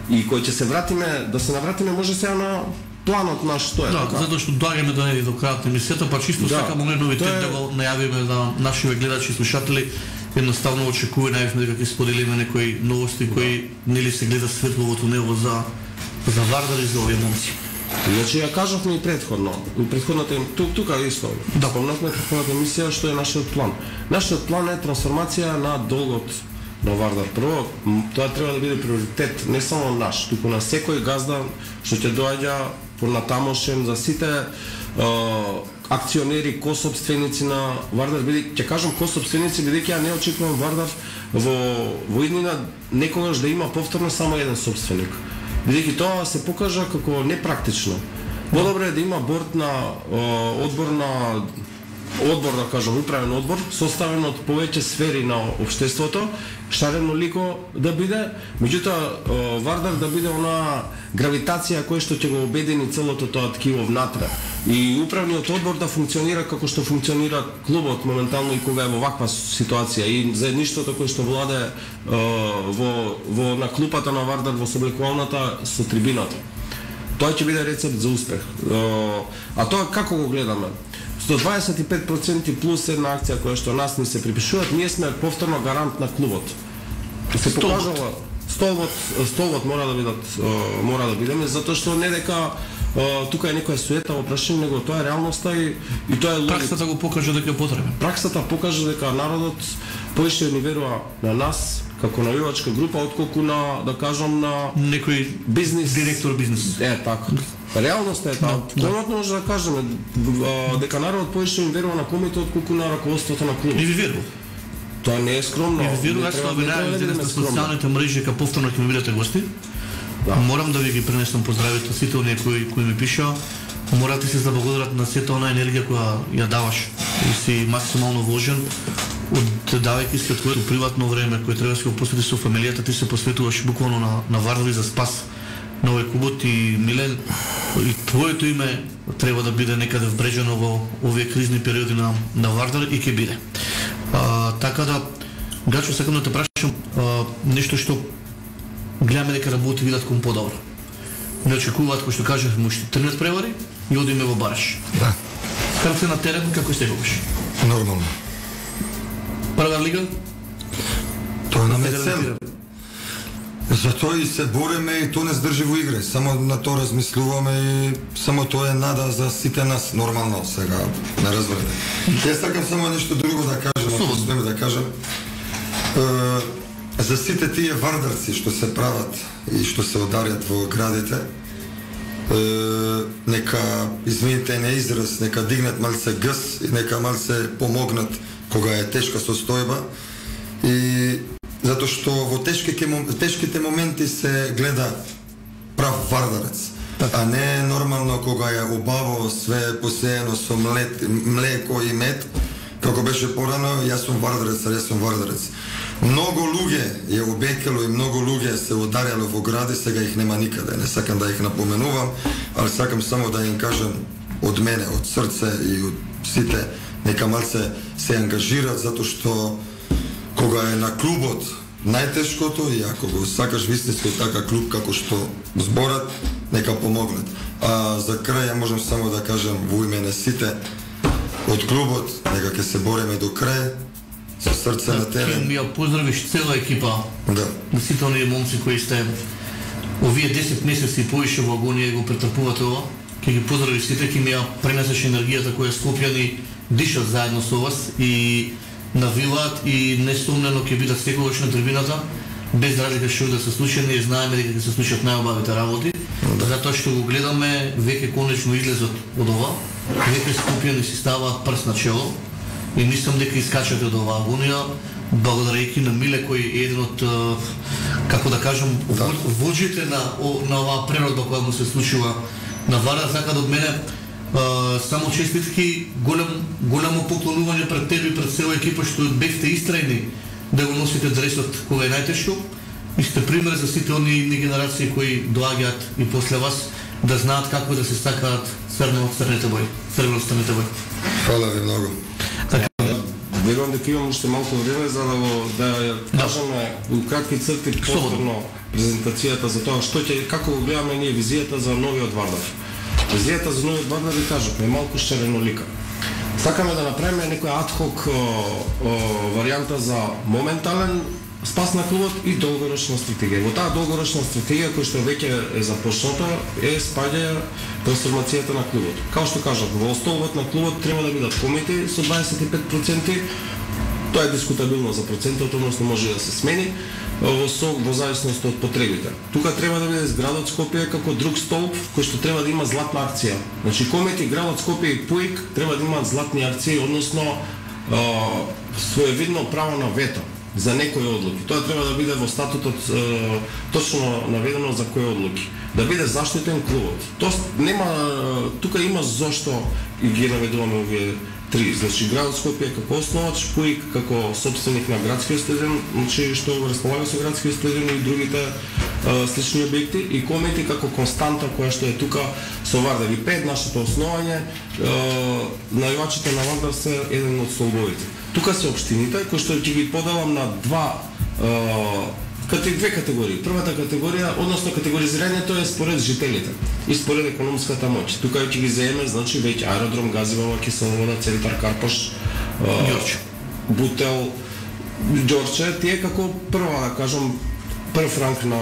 И кој ќе се вратиме, да се навратиме може сега на планот наш што е. Да, затоа што доаѓаме до до крајот на емисијата, па чисто сакам оној новитет да го најавиме на нашите гледачи и слушатели. Едноставно очекува најавме дека ќе споделиме некои новости кои нели се гледа светло во тунелот за Вардар и за овие момци. Значи ја кажавме и претходната тука исто. Да, спомнавме претходната емисија што е нашиот план. Нашиот план е трансформација на долгот на Вардар. Прво, тоа треба да биде приоритет не само наш, туку на секој газда што ќе доаѓа понатамошен за сите акционери, кособственици на Вардар, ќе кажам кособственици, бидејќи ја не очекувам Вардар во иднина некогаш да има повторно само еден собственик. Бидејќи тоа се покажа како непрактично. Подобре е да има одбор, да кажам, управен одбор, составен од повеќе сфери на општеството, шарено лико да биде, меѓутоа Вардар да биде она гравитација која што ќе го обедини целото тоа ткиво внатре. И управниот одбор да функционира како што функционира клубот моментално и кога е во ваква ситуација. И заедништвото кое што владе во на клупата на Вардар во соблекувалната со трибината. Тоа ќе биде рецепт за успех. А тоа како го гледаме? 125% плюс една акција која што нас ни се припишуваат, ние сме повторно гарант на клубот. Се покажала столбот мора да бидеме, затоа што не дека тука е некоја суета во прашање, него тоа е реалноста и тоа е логика. Праксата го покажа дека е потребен. Праксата покажа дека народот поише ни верува на нас како навивачка група отколку на, да кажам, на некој бизнес директор бизнес. Така. Реалноста е таа. Конкретно може да кажеме дека народот поише ни верува на комите отколку на раководството на клубот. И ви верува. Тоа не е скромно. И ви верува, јас ви најавам на социјалните мрежи дека повторно ќе ми бидете гости. Да. Морам да ви ги пренесам поздравите сите оние кои ми пишаа. Морате се заблагодарат на сета онаа енергија која ја даваш и си максимално вложен, давајќи се од твоето приватно време кој треба да се го посветиш со фамилијата, ти се посветуваш буквално на Вардар за спас на овој клубот. И Милен, и твоето име треба да биде некаде вбрежено во овие кризни периоди на Вардар и ќе биде. Така да, Гачо, сакам да те прашам нешто што гледаме дека работи видат кон подобро. Не очекуваат, кој што кажав, му ще тренат превари и одиме во бараш. Да. Како се на терен, како се губиш? Нормално. Прва лига? Тоа нам е цел. Затоа и се бориме и тоа не здржи во игре. Само на тоа размислуваме и само тоа е нада за сите нас. Нормално сега, не разберете. Јас сакам само нешто друго да кажам, ако смеме да кажам. За сите тие вардарци што се прават и што се ударят во градите, нека, извините на израз, нека дигнат малце гъс и нека малце помогнат кога е тешка состојба, и затоа што во тешките моменти се гледа прав вардарец, а не нормално кога е убаво све посеено со млеко и мед, како беше порано. Јас сум вардарец. Многу луѓе е обекело и многу луѓе се ударило во гради, сега их нема никаде. Не сакам да их напоменувам, ali сакам само да им кажам од мене, од срце и од сите, нека малце се ангажират, затоа што кога е на клубот најтешкото, и ако го сакаш вистински така клуб како што зборат, нека помогнат. А за крај ја можам само да кажам во име на сите од клубот, нека ќе се бориме до крај, со срце на терен. Ми ја поздравиш цела екипа, на сите оние момци кои сте овие 10 месеци поише во агонија го претрпувате ова. Ќе ги поздравиш сите, ќе ми ја пренесеш енергијата која Скопјани дишат заедно со вас и навиваат, и несумнено ќе бидат секогаш на трибината, без разлика што да се случи. Ние знаеме дека ќе се случат најубавите работи, затоа што го гледаме веќе конечно излезот од ова, веќе Скопјани си ставаат прст на чело. И мислам дека искачате од оваа агонија, благодарејќи на Миле кој е еден од, како да кажам, воджите на оваа преродба која му се случува на Вардар. Така да од мене само честитки, голямо поклонување пред тебе и пред цела екипа што бевте истрајни да го носите дресот кога е најтешко и сте пример за сите оние генерации кои доаѓаат и после вас да знаат како да се стакаат црвено-црните бои. Фала ви многу. Верувам дека имам уште малку време за да кажеме у кратки црти повторно презентацијата за тоа како го гледаме ние визијата за новиот Вардар. Визијата за новиот Вардар ви кажавме малку шаренолика. Сакаме да направиме некоја адхок варијанта за моментален спас на клубот и долгорочна стратегија. Во таа долгорочна стратегија која што веќе е започната е спаѓа трансформацијата на клубот. Као што кажав, во столбот на клубот треба да бидат комити со 25%. Тоа е дискутабилно за процентот, односно може да се смени. во зависност од потребите. Тука треба да биде градот Скопје како друг столб кој што треба да има златна акција. Значи комети градот Скопје и ПУИК треба да имаат златни акции, односно своевидно право на вето за некои одлуки. Тоа треба да биде во статутот точно наведено за кои одлуки. Да биде заштитен клубот. Тоа нема, тука има зошто и ги наведуваме овие три. Значи градот Скопје како основач, ПУИК како собственик на градскиот стадион, значи што располага со градскиот стадион и другите слични објекти, и комети како константа која што е тука со Вардар. И пред нашето основање, највачите на Вардар се еден од столбовите. Тука се општините кои што ќе ги поделам на две категории. Првата категорија, односно категоризирањето е според жителите и според економската моќ. Тука ќе ги земе, значи веќе аеродром, Газивала, Киселовода, Центар Карпош, Ѓорче, Бутел, Ѓорче, тие како прва, да кажам, прв ранг на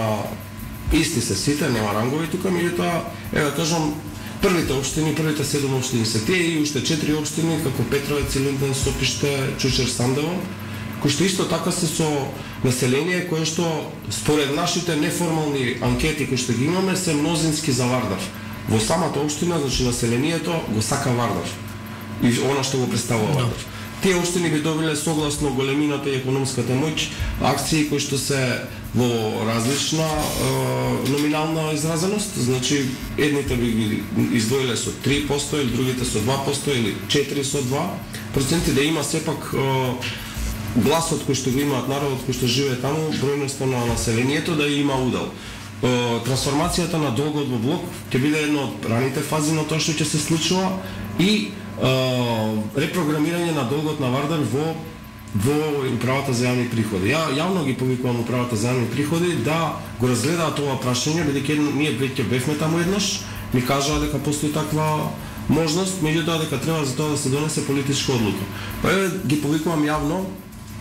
исти се сите, нема рангови тука, меѓутоа, да кажам, првите општини, првите 7 општини се тие и уште 4 општини како Петровец, Илинден, Стопиште, Чучер, Сандево, кои што исто така се со население кое што според нашите неформални анкети кои што ги имаме се мнозински за Вардар. Во самата општина, значи населението го сака Вардар и она што го представува Вардар. Тие општини би добиле согласно големината и економската моќ акции кои што се во различна номинална изразеност, значи едните би ги издвоиле со 3% или другите со 2% или 4 со 2%, да има сепак гласот кој што го имаат народот кој што живее таму, бројноста на населението да има удел. Трансформацијата на долгот во блок ќе биде една од раните фази на тоа што ќе се случува и репрограмирање на долгот на Вардар во управата за јавни приходи. Јавно ги повикувам управата за јавни приходи да го разгледаат ова прашање, бидејќи ние веќе бевме таму еднаш, ми кажаа дека постои таква можност, меѓутоа дека треба за тоа да се донесе политичка одлука. Па ги повикувам јавно.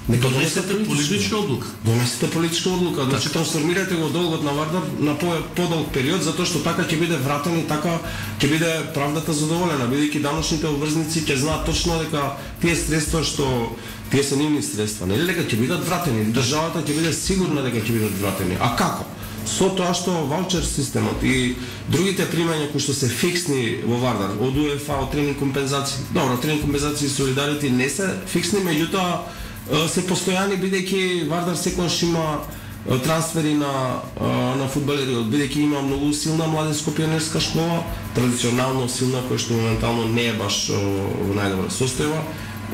Донесете политичка одлука. Донесете политичка одлука. Значи трансформирате го долгот на Вардар на подолг период, затоа што така ќе биде вратен и така ќе биде правдата задоволена, бидејќи даночните обврзници ќе знаат точно дека тие средства што тие се нивни средства, нели дека ќе бидат вратени. Државата ќе биде сигурна дека ќе бидат вратени. А како? Со тоа што ваучер системот и другите примања кои што се фиксни во Вардар, од УЕФА, од тренинг компензации. Добро, тренинг компензации и солидарити не се фиксни, меѓутоа се постојани, бидејќи Вардар секогаш има трансфери на фудбалери, бидејќи има многу силна младинско пионерска школа, традиционално силна, која што моментално не е баш во најдобра состојба.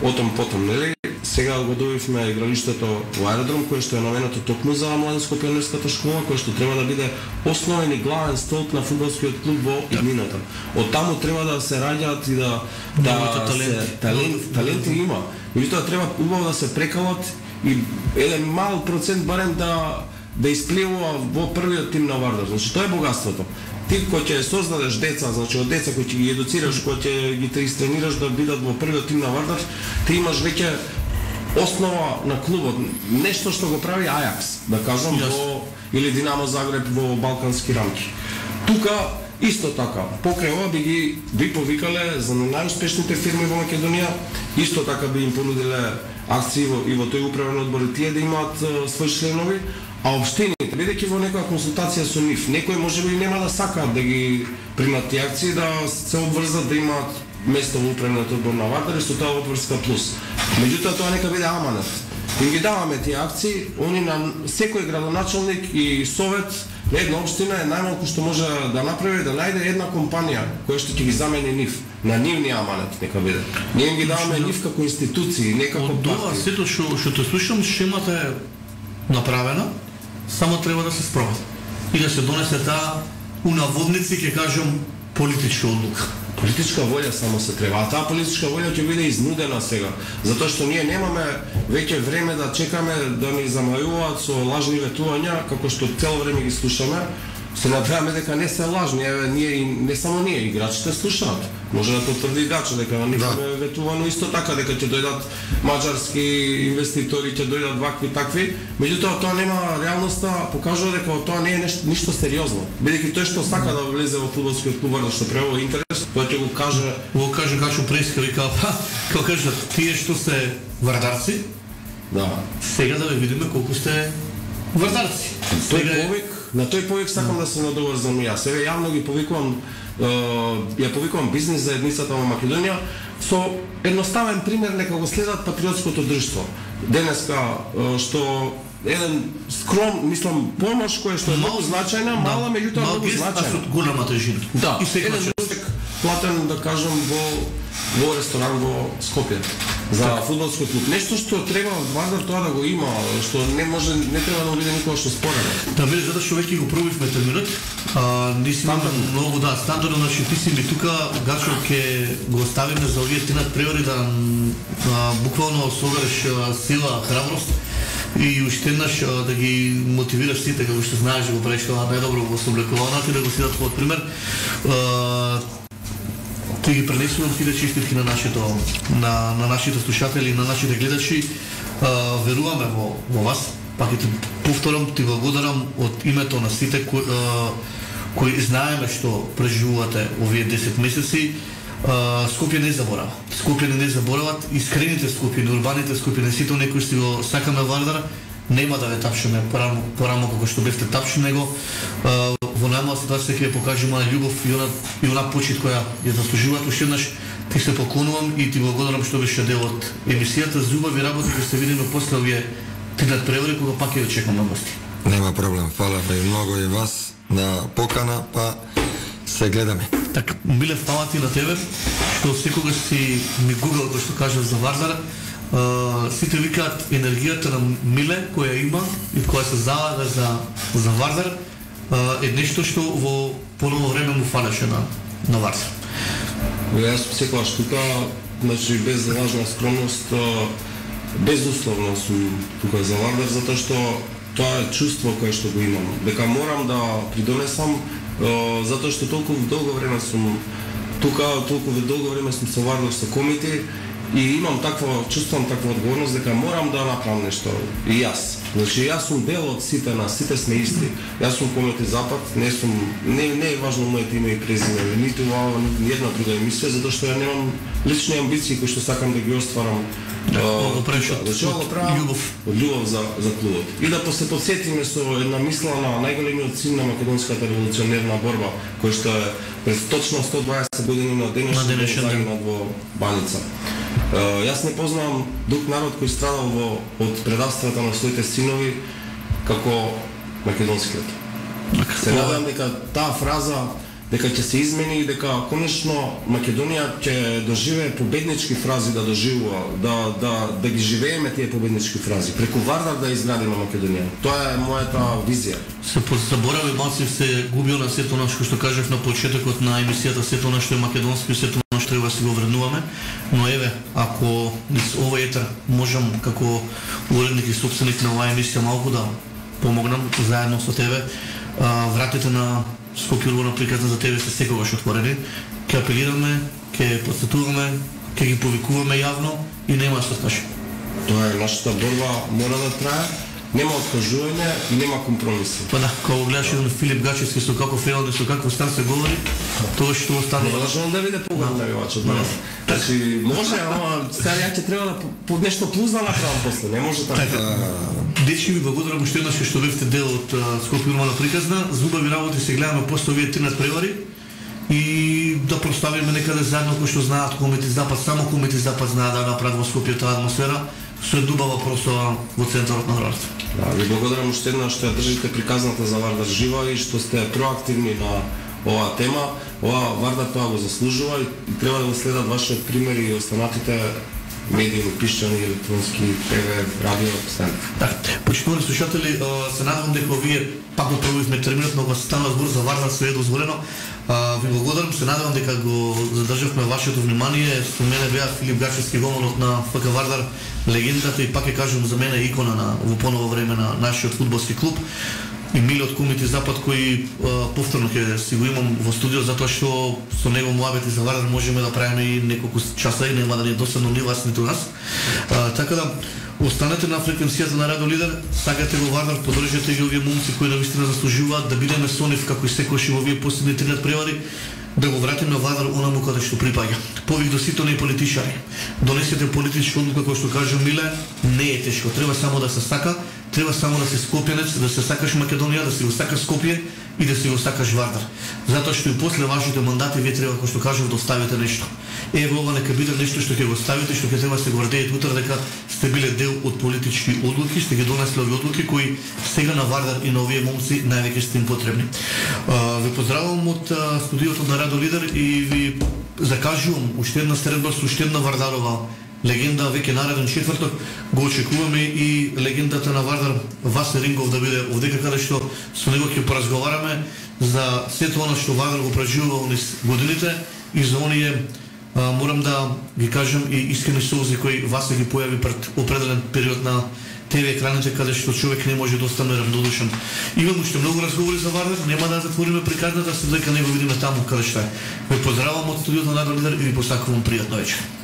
Отом потом, нели? Сега го добивме игралиштето во аеродром, кое што е наменето токму за младинско пионерската школа, кое што треба да биде основен и главен столб на фудбалскиот клуб во иднината. Од таму треба да се раѓаат и таленти има. Меѓутоа треба убаво да се прекалат и еден мал процент барем да испливува во првиот тим на Вардар. Значи тоа е богатството. Ти кој ќе создадеш деца, значи од деца кои ќе ги едуцираш, кој ќе ги тренираш да бидат во првиот тим на Вардар, ти имаш веќе основа на клубот, нешто што го прави Ајакс, да кажам, или Динамо Загреб во балкански рамки. Тука исто така, покрај ова би повикале за најуспешните фирми во Македонија, исто така би им понудиле акции и во тој управен одбор и тие да имаат своји членови, а општините, бидејќи во некоја консултација со нив, некој можеби нема да сакаат да ги примат тие акции, да се обврзат да имаат место во управниот одбор на Вардар и со тоа одврска плюс. Меѓутоа тоа нека биде аманет. Им ги даваме тие акции, они на секој градоначалник и совет на една општина е најмалку што може да направи да најде една компанија која што ќе ги замени нив. На нивни аманет нека биде. Ние им ги даваме нив како институции, не како партии. Од тоа сето што те слушам, шемата е направена, само треба да се спроведе и да се донесе таа унаводници, ќе кажам, политичка одлука. Политичка волја само се треба, а таа политичка волја ќе биде изнудена сега, затоа што ние немаме веќе време да чекаме да ни замајуваат со лажни ветувања, како што цело време ги слушаме. Се надеваме дека не се лажни, ние не само ние, играчите слушаат. Може да потврди играча дека на нив е ветувано исто така, дека ќе дојдат маđарски инвеститори, ќе дојдат вакви такви, меѓутоа тоа нема реалноста, покажува дека тоа не е ништо сериозно. Бидејќи тој што сака да влезе во фудбалскиот клуб Вардар, што прево интерес, тоа ќе го каже. Го каже Гашо Преска, вика, како кажат, тие што се вардарци, да. Сега да ве видиме колку сте Вардарци. На тој повик сакам да се надоврзам јас. Еве јавно ги повикувам, ја повикувам бизнис заедницата во Македонија со едноставен пример, нека го следат патриотското друштво. Денеска што еден скром, мислам, помош која што е многу значајна, мала, меѓутоа многу значајна. Голяма тежина. Да, еден човек платен, да кажам, во ресторан во Скопје за фудбалски клуб. Нешто што треба Вардар тоа да го има, што не треба да биде никога што спорено. Да, вели затоа што веќе го пробивме терминот. Нисме многу стандардно, значи ти си ми тука, Гачо, ќе го оставиме за овие 3 надпревари да буквално собереш сила, храброст и уште еднаш да ги мотивираш сите, како што знаеш да го правиш тоа најдобро во сооблекуваната и да го следат твојот пример. Ти ги пренесувам тие честитки на нашите слушатели, на нашите гледачи. Веруваме во вас. Пак и ти повторам, ти благодарам од името на сите кои знаеме што преживувате овие 10 месеци. Скопје не заборава. Скопје не заборават. Искрените Скопјани, урбаните Скопјани, сите оние кои го сакаме Вардар, нема да ве тапшиме порамо како што бевте тапши, него во најмала ситуација ќе ја покажеме љубов и она почит која ја заслужуваат. Уште еднаш ти се поклонувам и ти благодарам што беше дел од емисијата. За убави работи ќе се видиме после овие 3 надпревари кога пак ќе чекам на гости. Нема проблем. Фала ви многу и вас на покана, па се гледаме. Така, Миле, фала ти на тебе што секогаш си ми гугал, кој што кажав за Вардар. Сите викаат енергијата на Миле која има и која се залага за Вардар е нешто што во поново време му фалеше на Вардар. Јас секогаш тука, значи без лажна скромност, безусловно сум тука за Вардар, затоа што тоа е чувство кое што го имам, дека морам да придонесам, затоа што толку долго време сум тука, толку долго време сум со Вардар, со комите, и чувствувам таква одговорност дека морам да направам нешто и јас. Значи јас сум дел од сите нас, сите сме исти. Јас сум Комети Запад, не е важно моето име и презиме, ниту ова, ни една друга емисија, затоа што ја немам лични амбиции кои што сакам да ги остварам. Го правиш од љубов за клубот. И да се подсетиме со една мисла на најголемиот син на македонската револуционерна борба, кој што е през точно 120 години на денешен загинат во Баница. Јас не познавам друг народ кој страдал од предавствата на своите синови како македонскиот. Се надевам дека таа фраза дека ќе се измени и дека конечно Македонија ќе доживее победнички фрази да доживува, да ги живееме тие победнички фрази, преку Вардар да изградиме Македонија. Тоа е мојата визија. Се заборави малку, се губил на сето нешто што кажав на почетокот на емисијата, сето нешто е македонско и сето нешто треба да се го вреднуваме, но еве, ако низ овој етер можам како уредник и сопственик на оваа емисија малку да помогнам заедно со тебе, вратите на Скопје урбана приказна за тебе се секогаш отворени. Ќе апелираме, ќе посетуваме, ќе ги повикуваме јавно и нема што скаже. Тоа е нашата борба, мора да трае, нема откажување и нема компромиси. Па да, кога гледаш еден Филип Гачевски со каков фелон и со каков стан се говори, тоа што остане. Можам да биде поголем навивач од мене. Значи, може, ама сега ја ќе треба да нешто плюс да направам после, не може така. Дечки, ви благодарам уште еднаш што бевте дел од Скопје урбана приказна. За убави работи се гледаме после овие 3 надпревари и да проставиме некаде заедно кои што знаат Комети Запад, само Комети Запад знаат да направат во Скопје таа атмосфера со едубава прослава во центарот на градот. Да, ви благодарам уште еднаш што ја држите приказната за Вардар жива и што сте проактивни на оваа тема. Ова Вардар тоа го заслужува и треба да го следат вашиот пример и останатите медии, пишчани, електронски, ТВ, радио, стан. Така, почитувани слушатели, се надевам дека овие пак го пробивме терминот, но кога стана збор за Вардар се е дозволено. Ви благодарам, се надевам дека го задржавме вашето внимание. Со мене беа Филип Гачевски, голманот на ФК Вардар, легендата и пак ќе кажам за мене икона во поново време на нашиот фудбалски клуб. И Миле од Комети Запад, кој повторно ќе си го имам во студио, затоа што со него муабети за Вардар можеме да правиме и неколку часа и нема да ни е досадно ни вас ниту нас. Така да, останете на фреквенцијата на Радио Лидер, сакате го Вардар, поддржете ги овие момци кои навистина заслужуваат да бидеме со нив како и секојаш во овие последни 3 надпревари, да го вратиме Вардар онаму каде што припаѓа. Повик до сите оние политичари. Донесете политичка одлука, кој што кажа Миле, не е тешко, треба само да се сака, треба само да си скопјанец, да се сакаш Македонија, да си го сакаш Скопје и да си го сакаш Вардар. Затоа што и после вашите мандати вие треба, како што кажав, да оставите нешто. Ево ова нека биде нешто што ќе го ставите, што ќе треба да се гордеете утре дека сте биле дел од политички одлуки, сте ги донесли овие одлуки кои сега на Вардар и на овие момци највеќе сте им потребни. Ви поздравувам од студиото на Радио Лидер и ви закажувам уште една средба со уште една Вардарова легенда, веќе нареден четврток го очекуваме и легендата на Вардар Васе Рингов да биде овдека, каде што со него ќе поразговараме за сето она што Вардар го преживува низ годините и за оние морам да ги кажам и искрени солзи кои Васе ги појави пред определен период на ТВ екраните, каде што човек не може да остане равнодушен. Имам уште многу разговори за Вардар, нема да затвориме приказната, се дека не го видиме таму каде што е. Ве поздравувам од студиото на Радио Лидер и ви посакувам пријатна вечер.